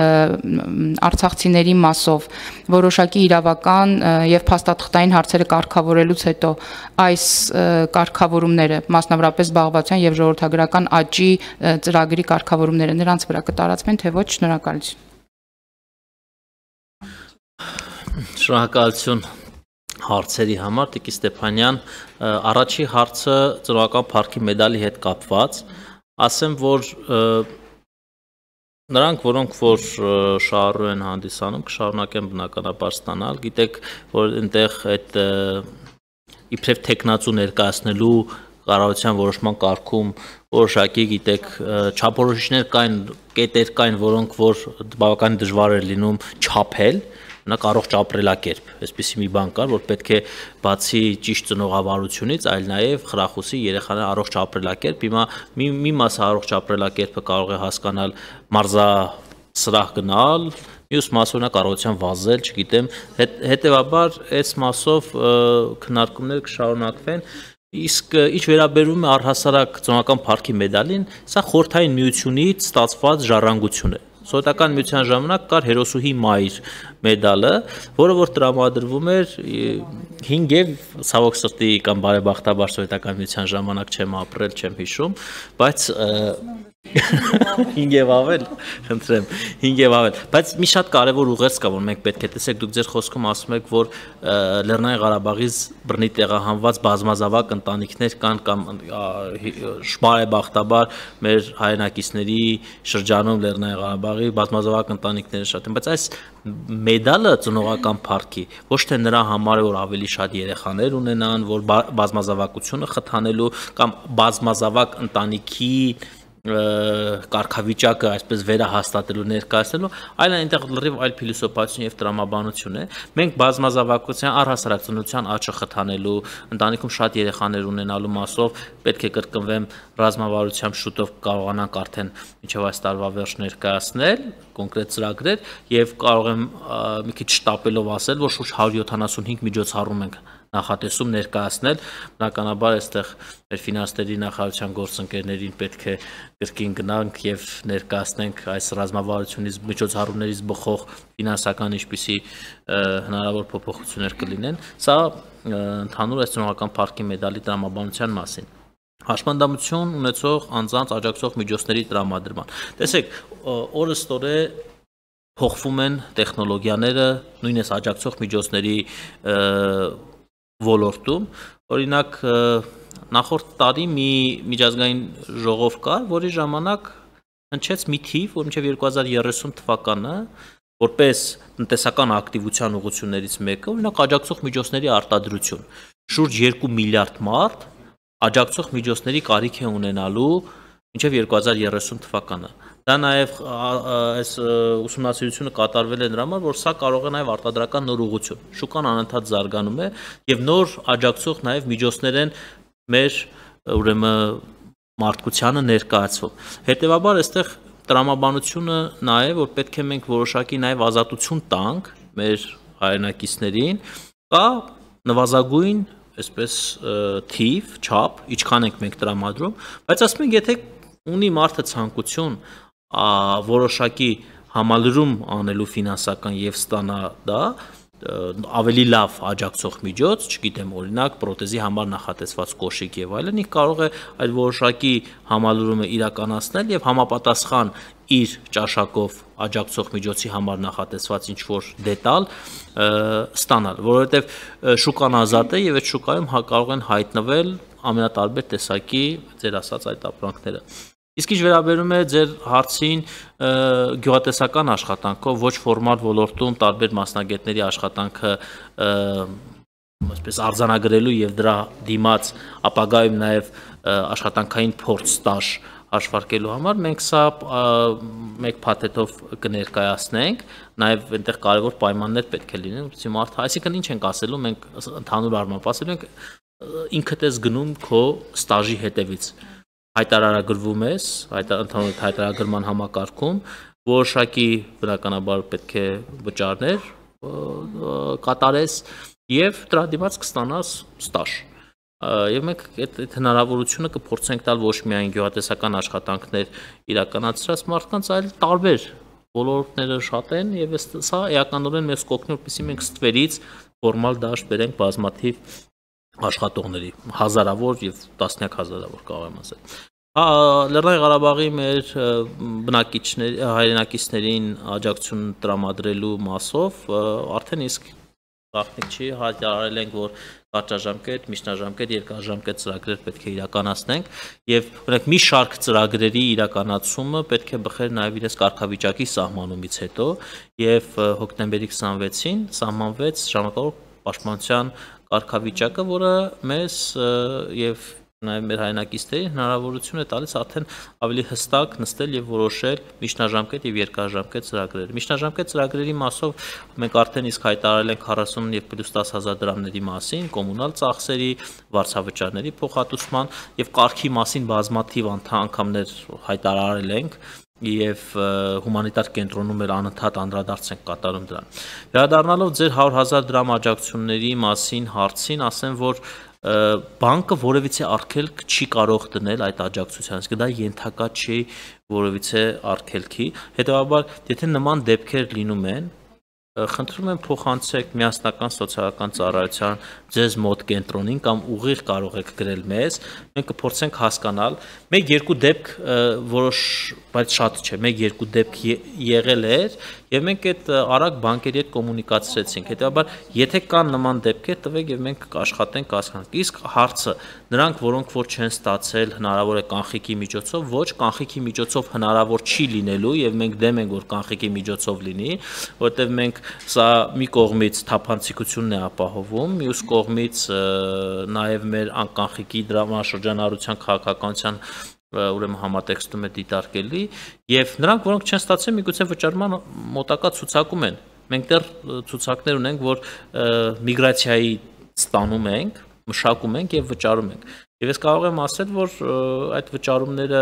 արցախցիների մասով որոշակի իրավական եւ փաստաթղթային հարցերը կարգավորելուց հետո այս կարգավորումները մասնավորապես զբաղվածության եւ ժողովրդագրական աճի ծրագրի կարգավորումները նրանց վրա կտարածվեն թե ոչ? Շնորհակալություն։ Շնորհակալություն հարցերի համար, Տիկին Ստեփանյան, առաջի հարցը ծնողական փառքի մեդալի հետ կապված, ասեմ, որ նրանք, որոնք որ շահառու են հանդիսանում, կշարունակեն բնականաբար ստանալ, գիտեք, որ այնտեղ այդ իբրև տեխնացու ներկայացնելու կառավարության որոշման կարգում որոշակի գիտեք չափորոշիչներ կային, կետեր կային, որոնք որ բավական դժվար էր լինում չափել, մենակ առողջ ապրելակերպ, այսպիսի մի բան կար, որ պետք է բացի ճիշտ ծնողավարությունից, այլ նաև խրախուսի երեխաների առողջ ապրելակերպ, հիմա մի մասը առողջ ապրելակերպը կարող է հասկանալ մարզասրահ գնալ, մյուս մասը կառավարության վազել, չգիտեմ, հետևաբար այս մասով քննարկումները կշարունակվեն։ Իսկ ինչ վերաբերում է առհասարակ ծնողական փառքի մեդալին, սա խորհրդային միությունից ստացված ժառանգություն է։ Սովետական միության ժամանակ կար հերոսուհի մայր մեդալը, որը որ տրամադրվում էր 5 եւ ցավոք սրտի կամ բարեբախտաբար սովետական միության ժամանակ չեմ ապրել, չեմ հիշում, բայց 5 եւ ավել, խնդրեմ, 5 եւ ավել, բայց մի շատ կարեւոր ուղերձ կա, որ մենք պետք է տեսեք, դուք ձեր խոսքում ասում եք, որ Լեռնային Ղարաբաղից բռնի տեղահանված բազմազավակ ընտանիքներ կան կամ շնորհաբախտաբար մեր հայրենակիցների շրջանում Լեռնային Ղարաբաղի բազմազավակ ընտանիքները շատ են, բայց այս մեդալը ծնողական փառքի ոչ թե նրա համար է, որ ավելի շատ երեխաներ ունենան, որ բազմազավակությունը խթանելու կամ բազմազավակ ընտանիքի կարգավիճակը այսպես վերահաստատելու ներկայացնելու, այլ այնտեղ լրիվ այլ փիլիսոփայություն եւ տրամաբանություն է։ Մենք բազմազավակության առհասարակ ծնության աճը խթանելու, ընտանիքում շատ երեխաներ ունենալու մասով պետք է կրկնվեմ ռազմավարությամբ շուտով կարողանանք արդեն մինչև այս տարվա վերջ ներկայացնել կոնկրետ ծրագրեր եւ կարող եմ մի քիչ շտապելով ասել, որ շուրջ 175 միջոցառում ենք նախատեսում ներկայացնել, բնականաբար այստեղ մեր ֆինանսների նախարարության գործընկերներին պետք է կրկին գնանք եւ ներկայացնենք այս ռազմավարությունից միջոցառումներից բխող ֆինանսական ինչպիսի հնարավոր փոփոխություններ կլինեն։ Սա ընդհանուր այս ծնողական փառքի մեդալի տրամաբանության մասին։ Հաշմանդամություն ունեցող անձանց աջակցող միջոցների տրամադրման։ Տեսեք, օրըստօրե փոխվում են տեխնոլոգիաները, նույնիսկ աջակցող միջոցների ոլորտում, օրինակ նախորդ տարի մի միջազգային ժողով կար, որի ժամանակ հնչեց մի թիվ, որ մինչև 2030 թվականը որպես տնտեսական ակտիվության ուղղություններից մեկը, օրինակ աջակցող միջոցների արտադրություն, շուրջ 2 միլիարդ մարդ աջակցող միջոցների կարիք է ունենալու մինչև 2030 թվականը։ Դա նաև այս ուսումնասիրությունը կատարվել է նրա համար, որ սա կարող է նաև արտադրական նոր ուղղություն։ Շուկան անընդհատ զարգանում է եւ նոր աջակցող նաև միջոցներ են մեր ուրեմն մարդկությանը ներկայացվում։ Հետևաբար այստեղ տրամաբանությունը նա է, որ պետք է մենք որոշակի նաև ազատություն տանք մեր հայրենակիցներին, կա նվազագույն այսպես թիվ, չափ, ինչքան ենք մենք տրամադրում, բայց ասում ենք, եթե ունի մարդը ցանկություն որոշակի համալրում անելու ֆինանսական եւ ստանա դա ավելի լավ աջակցող միջոց, չգիտեմ, օրինակ պրոթեզի համար նախատեսված կոշիկ եւ այլն, ինքը կարող է այդ որոշակի համալրումը իրականացնել եւ համապատասխան իր ճաշակով աջակցող միջոցի համար նախատեսված ինչ որ դետալ ստանալ, որովհետեւ շուկան ազատ է եւ այդ շուկայում կարող են հայտնվել ամենատարբեր տեսակի ձեր ասած այդ ապրանքները։ Իսկ ինչ վերաբերում է ձեր հարցին գյուղատնտեսական աշխատանքով ոչ ֆորմալ ոլորտում տարբեր մասնագետների աշխատանքը այսպես արձանագրելու եւ դրա դիմաց ապագայում նաեւ աշխատանքային փորձ ստաժ հաշվարկելու համար մենք սա մեկ փաթեթով կներկայացնենք, նաեւ այնտեղ կարևոր պայմաններ պետք է լինեն, որպեսզի մարդը, այսինքն ինչ ենք ասելու, մենք ընդհանուր առմամբ ասելու ենք ինքդ ես գնում քո ստաժի հետևից հայտարարագրվում ես, ընդհանուր հայտարարագրման համակարգում, որոշակի բնականաբար պետք է վճարներ կատարես եւ դրա դիմաց կստանաս ստաժ։ Եվ մենք այդ հնարավորությունը կփորձենք տալ ոչ միայն գյուղատնտեսական աշխատանքներ իրականացրած մարդկանց, այլ տարբեր ոլորտները շատ են եւ սա էականորեն մեզ կօգնի, որպեսզի մենք ստվերից ֆորմալ դաշտ բերենք բազմաթիվ աշխատողների, հազարավոր եւ տասնյակ հազարավոր կարող եմ ասել։ Լեռնային Ղարաբաղի մեր բնակիչների, հայրենակիցներին աջակցություն տրամադրելու մասով արդեն իսկ գաղտնիք չի, հայտարարել ենք, որ կարճաժամկետ, միջնաժամկետ, երկարաժամկետ ծրագրեր պետք է իրականացնենք եւ օրինակ մի շարք ծրագրերի իրականացումը պետք է բխեր նաեւ իրենց կարգավիճակի սահմանումից հետո եւ հոկտեմբերի 26-ին սահմանվեց ժամանակավոր պաշտպանության կարգավիճակը, որը մեզ եւ նաեւ մեր հայրենակիցներին հնարավորություն է տալիս արդեն ավելի հստակ նստել եւ որոշել միջնաժամկետ եւ երկարաժամկետ ծրագրեր։ Միջնաժամկետ ծրագրերի մասով մենք արդեն իսկ հայտարարել ենք 40 եւ պլյուս 10,000 դրամների մասին, կոմունալ ծախսերի, վարձավճարների փոխհատուցման եւ կարգի մասին բազմաթիվ անգամներ հայտարարել ենք եւ հումանիտար կենտրոնում էլ անընդհատ անդրադարձ ենք կատարում դրան։ Վերադառնալով ձեր 100,000 դրամ աջակցությունների մասին հարցին, ասեմ, որ բանկը որևիցե արգելք չի կարող դնել այդ աջակցության, իսկ դա ենթակա չի որևիցե արգելքի։ Հետևաբար, եթե նման դեպքեր լինում են, խնդրում եմ փոխանցեք միասնական սոցիալական ծառայության ձեզ մոտ կենտրոնին կամ ուղիղ կարող եք գրել մեզ, մենք կփորձենք հասկանալ, 1-2 դեպք որոշ, բայց շատ չէ, 1-2 դեպք եղել էր եւ մենք այդ արագ բանկերի հետ կոմունիկացրեցինք։ Հետեւաբար, եթե կան նման դեպքեր, տվեք եւ մենք կաշխատենք հասկանանք։ Իսկ հարցը, նրանք, որոնք որ չեն ստացել, հնարավոր է կանխիկի միջոցով, ոչ կանխիկի միջոցով հնարավոր չի լինելու եւ մենք դեմ ենք, որ կանխիկի միջոցով լինի, որովհետեւ մենք սա մի կողմից թափանցիկությունն է ապահովում, մյուս կողմից նաեւ մեր անկանխիկի դրամաշրջանառության քաղաքականության ուրեմն համատեքստում է դիտարկելի եւ նրանք որոնք չեն ստացել միգուցե վճարման մոտակա ցուցակում են մենք դեռ ցուցակներ ունենք որ միգրացիայի ստանում ենք մշակում ենք եւ վճարում ենք եւ ես կարող եմ ասել որ այդ վճարումները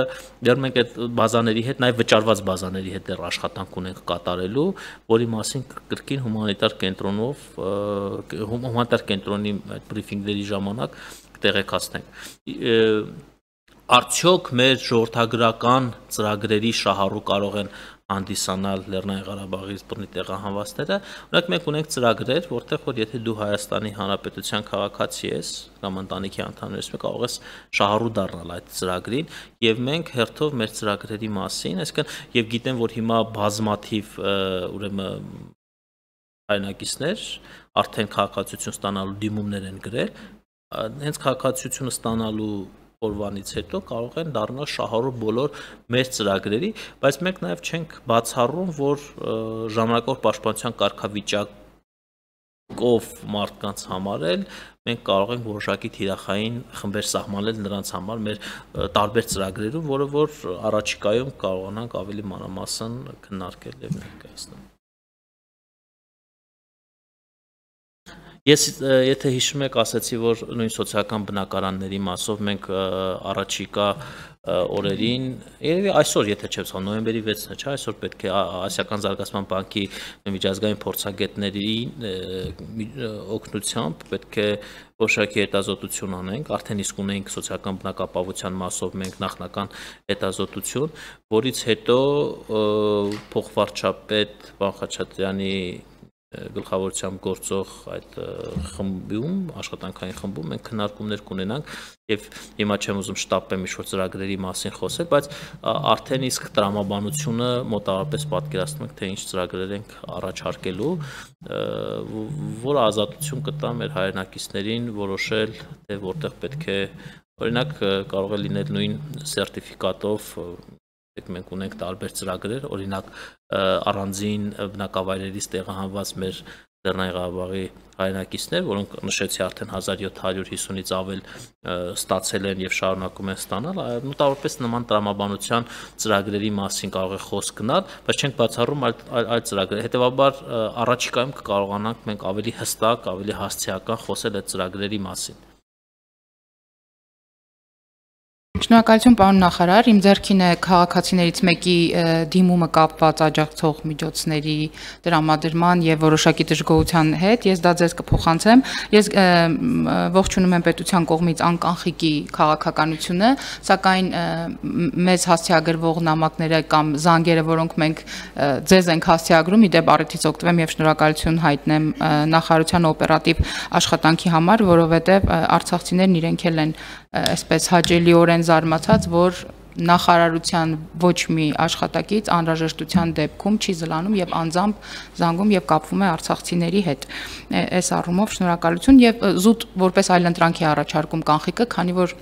դեռ մենք այդ բազաների հետ նաեւ վճարված բազաների հետ դեռ աշխատանք ունենք կատարելու որի մասին կրկին հումանիտար կենտրոնով հումանիտար կենտրոնի այդ բրիֆինգների ժամանակ կտեղեկացնենք Արդյոք մեր ժողովրդագրական ծրագրերի շահառու կարող են հանդիսանալ Լեռնային Ղարաբաղի բռնի տեղահանվածները, օրինակ մենք ունենք ծրագրեր, որտեղ որ եթե դու Հայաստանի Հանրապետության քաղաքացի ես կամ ընտանիքի անդամ ես, կարող ես շահառու դառնալ այդ ծրագրին, եւ մենք հերթով մեր ծրագրերի մասին, այսինքն եւ գիտեմ, որ հիմա բազմաթիվ ուրեմն հայրենակիցներ արդեն քաղաքացիություն ստանալու դիմումներ են գրել, հենց քաղաքացիությունը ստանալու օրվանից հետո կարող են դառնալ շահառու բոլոր մեր ծրագրերի, բայց մենք նաև չենք բացառում, որ ժամանակավոր պաշտպանության կարգավիճակով մարդկանց համարել, մենք կարող ենք որոշակի թիրախային խմբեր սահմանել նրանց համար մեր տարբեր ծրագրերում, որը որ առաջիկայում կարողանանք ավելի մանրամասն քննարկել եւ ներկայացնել։ Ես եթե հիշում եք, ասացի, որ նույն սոցիալական բնակարանների մասով մենք առաջիկա օրերին, երևի այսօր, եթե չեմ սխալվում, նոյեմբերի 6-ն է, չէ՞, այսօր պետք է Ասիական զարգացման բանկի միջազգային փորձագետների օգնությամբ պետք է որոշակի հետազոտություն անենք, արդեն իսկ ունենք սոցիալական բնակապահովության մասով մենք նախնական հետազոտություն, որից հետո փոխվարչապետ Վան Խաչատրյանի գլխավորությամբ գործող այդ խմբում, աշխատանքային խմբում մենք քննարկումներ կունենանք եւ հիմա չեմ ուզում շտապեմ ինչ-որ ծրագրերի մասին խոսել, բայց արդեն իսկ տրամաբանությունը մոտավորապես պատկերացնում ենք, թե ինչ ծրագրեր ենք առաջարկելու, որը ազատություն կտա մեր հայրենակիցներին որոշել, թե որտեղ պետք է, օրինակ կարող է լինել նույն սերտիֆիկատով մենք ունենք տարբեր ծրագրեր, օրինակ առանձին բնակավայրերից տեղահանված մեր Լեռնային Ղարաբաղի հայրենակիցներ, որոնք նշեցի արդեն 1750-ից ավել ստացել են եւ շարունակում են ստանալ, մոտավորապես նման տրամաբանության ծրագրերի մասին կարող է խոսք գնալ, բայց չենք բացառում այլ ծրագրեր։ Հետեւաբար առաջիկայում կկարողանանք մենք ավելի հստակ, ավելի հասցեական խոսել այդ ծրագրերի մասին։ Շնորհակալություն պարոն նախարար, իմ ձեռքին է քաղաքացիներից մեկի դիմումը կապված աջակցող միջոցների տրամադրման եւ որոշակի դժգոհության հետ, ես դա ձեզ կփոխանցեմ, ես ողջունում եմ պետության կողմից անկանխիկի քաղաքականությունը, սակայն մեզ հասցեագրվող նամակները կամ զանգերը, որոնք մենք ձեզ ենք հասցեագրում, իդեպ առիթից օգտվեմ եւ շնորհակալություն հայտնեմ նախարարության օպերատիվ աշխատանքի համար, որովհետեւ արցախցիներն իրենք էլ են այսպես հաճելիորեն զարմացած, որ նախարարության ոչ մի աշխատակից անհրաժեշտության դեպքում չի զլանում եւ անձամբ զանգում եւ կապվում է արցախցիների հետ։ Այս առումով շնորհակալություն եւ զուտ որպես այլընտրանք է առաջարկում կանխիկը, քանի որ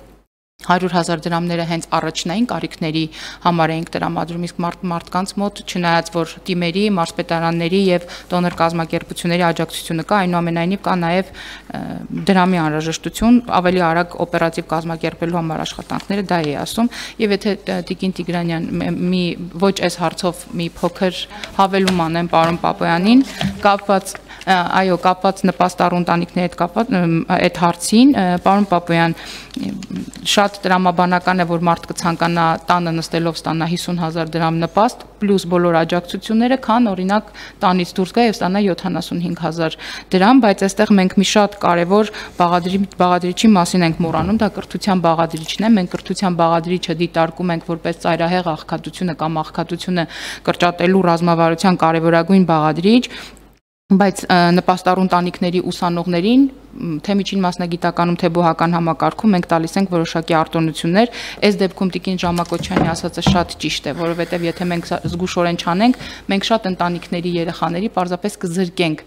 100,000 դրամները հենց առաջնային կարիքների համար էինք տրամադրում, իսկ մարդկանց մոտ չնայած որ թիմերի, մարզպետարանների եւ դոնոր կազմակերպությունների աջակցությունը կա, այնուամենայնիվ կա նաեւ դրամի անհրաժեշտություն, ավելի արագ օպերատիվ կազմակերպելու համար աշխատանքները դա է ասում, եւ եթե Տիկին Տիգրանյան մի ոչ այս հարցով մի փոքր հավելում անեմ պարոն Պապոյանին, կապված նպաստառու ընտանիքների հետ կապված այդ հարցին, պարոն Պապոյան, շատ տրամաբանական է, որ մարդ կցանկանա տանը նստելով ստանա 50,000 դրամ նպաստ, պլյուս բոլոր աջակցությունները, քան օրինակ տանից դուրս գա եւ ստանա 75,000 դրամ, բայց այստեղ մենք մի շատ կարեւոր բաղադրիչի մասին ենք մոռանում, դա կրթության բաղադրիչն է, մենք կրթության բաղադրիչը դիտարկում ենք որպես ծայրահեղ աղքատությունը կամ աղքատությունը կրճատելու ռազմավարության կարևորագույն բաղադրիչ, բայց նպաստառու ընտանիքների ուսանողներին թե միջին մասնագիտականում թե բուհական համակարգում մենք տալիս ենք որոշակի արտոնություններ, այս դեպքում Տիկին Ժամակոչյանի ասածը շատ ճիշտ է, որովհետև եթե մենք զգուշորեն չանենք, մենք շատ ընտանիքների երեխաների պարզապես կզրկենք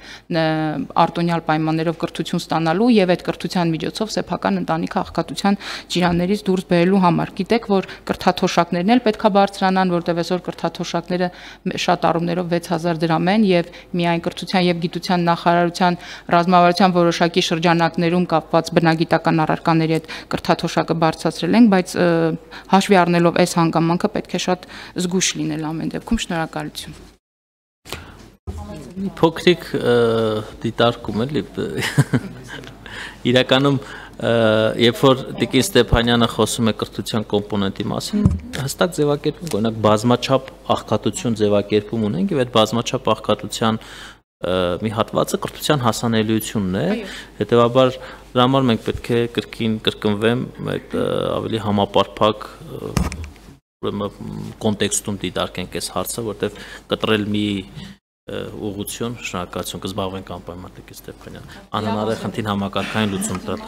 արտոնյալ պայմաններով կրթություն ստանալու եւ այդ կրթության միջոցով սեփական ընտանիքը աղքատության ջիրաններից դուրս բերելու համար։ Գիտեք, որ կրթաթոշակներն էլ պետքա բարձրանան, որտեղ այսօր կրթաթոշակները շատ առումներով 6000 դրամ են եւ միայն կրթության եւ գիտության նախարարության ռազմավարության որոշակի շրջանակներում կապված բնագիտական առարկաների հետ կրթաթոշակը բարձրացրել ենք, բայց հաշվի առնելով այս հանգամանքը պետք է շատ զգույշ լինել ամեն դեպքում։ Շնորհակալություն։ Մի փոքրիկ դիտարկում էլի իրականում երբ որ Տիկին Ստեփանյանը խոսում է կրթության կոմպոնենտի մասին, հստակ ձևակերպում, օրինակ բազմաչափ աղքատություն ձևակերպում ունենք եւ այդ բազմաչափ աղքատության մի հատվածը կրթության հասանելիությունն է, հետեւաբար դրա համար մենք պետք է կրկին կրկնվեմ այդ ավելի համապարփակ կոնտեքստում դիտարկենք այս հարցը, որտեղ կտրել մի ուղղություն, շնորհակալություն, կզբաղվենք անպայման Տիկին Ստեփանյան։ Անհնար է խնդին համակարգային լուծում տալ։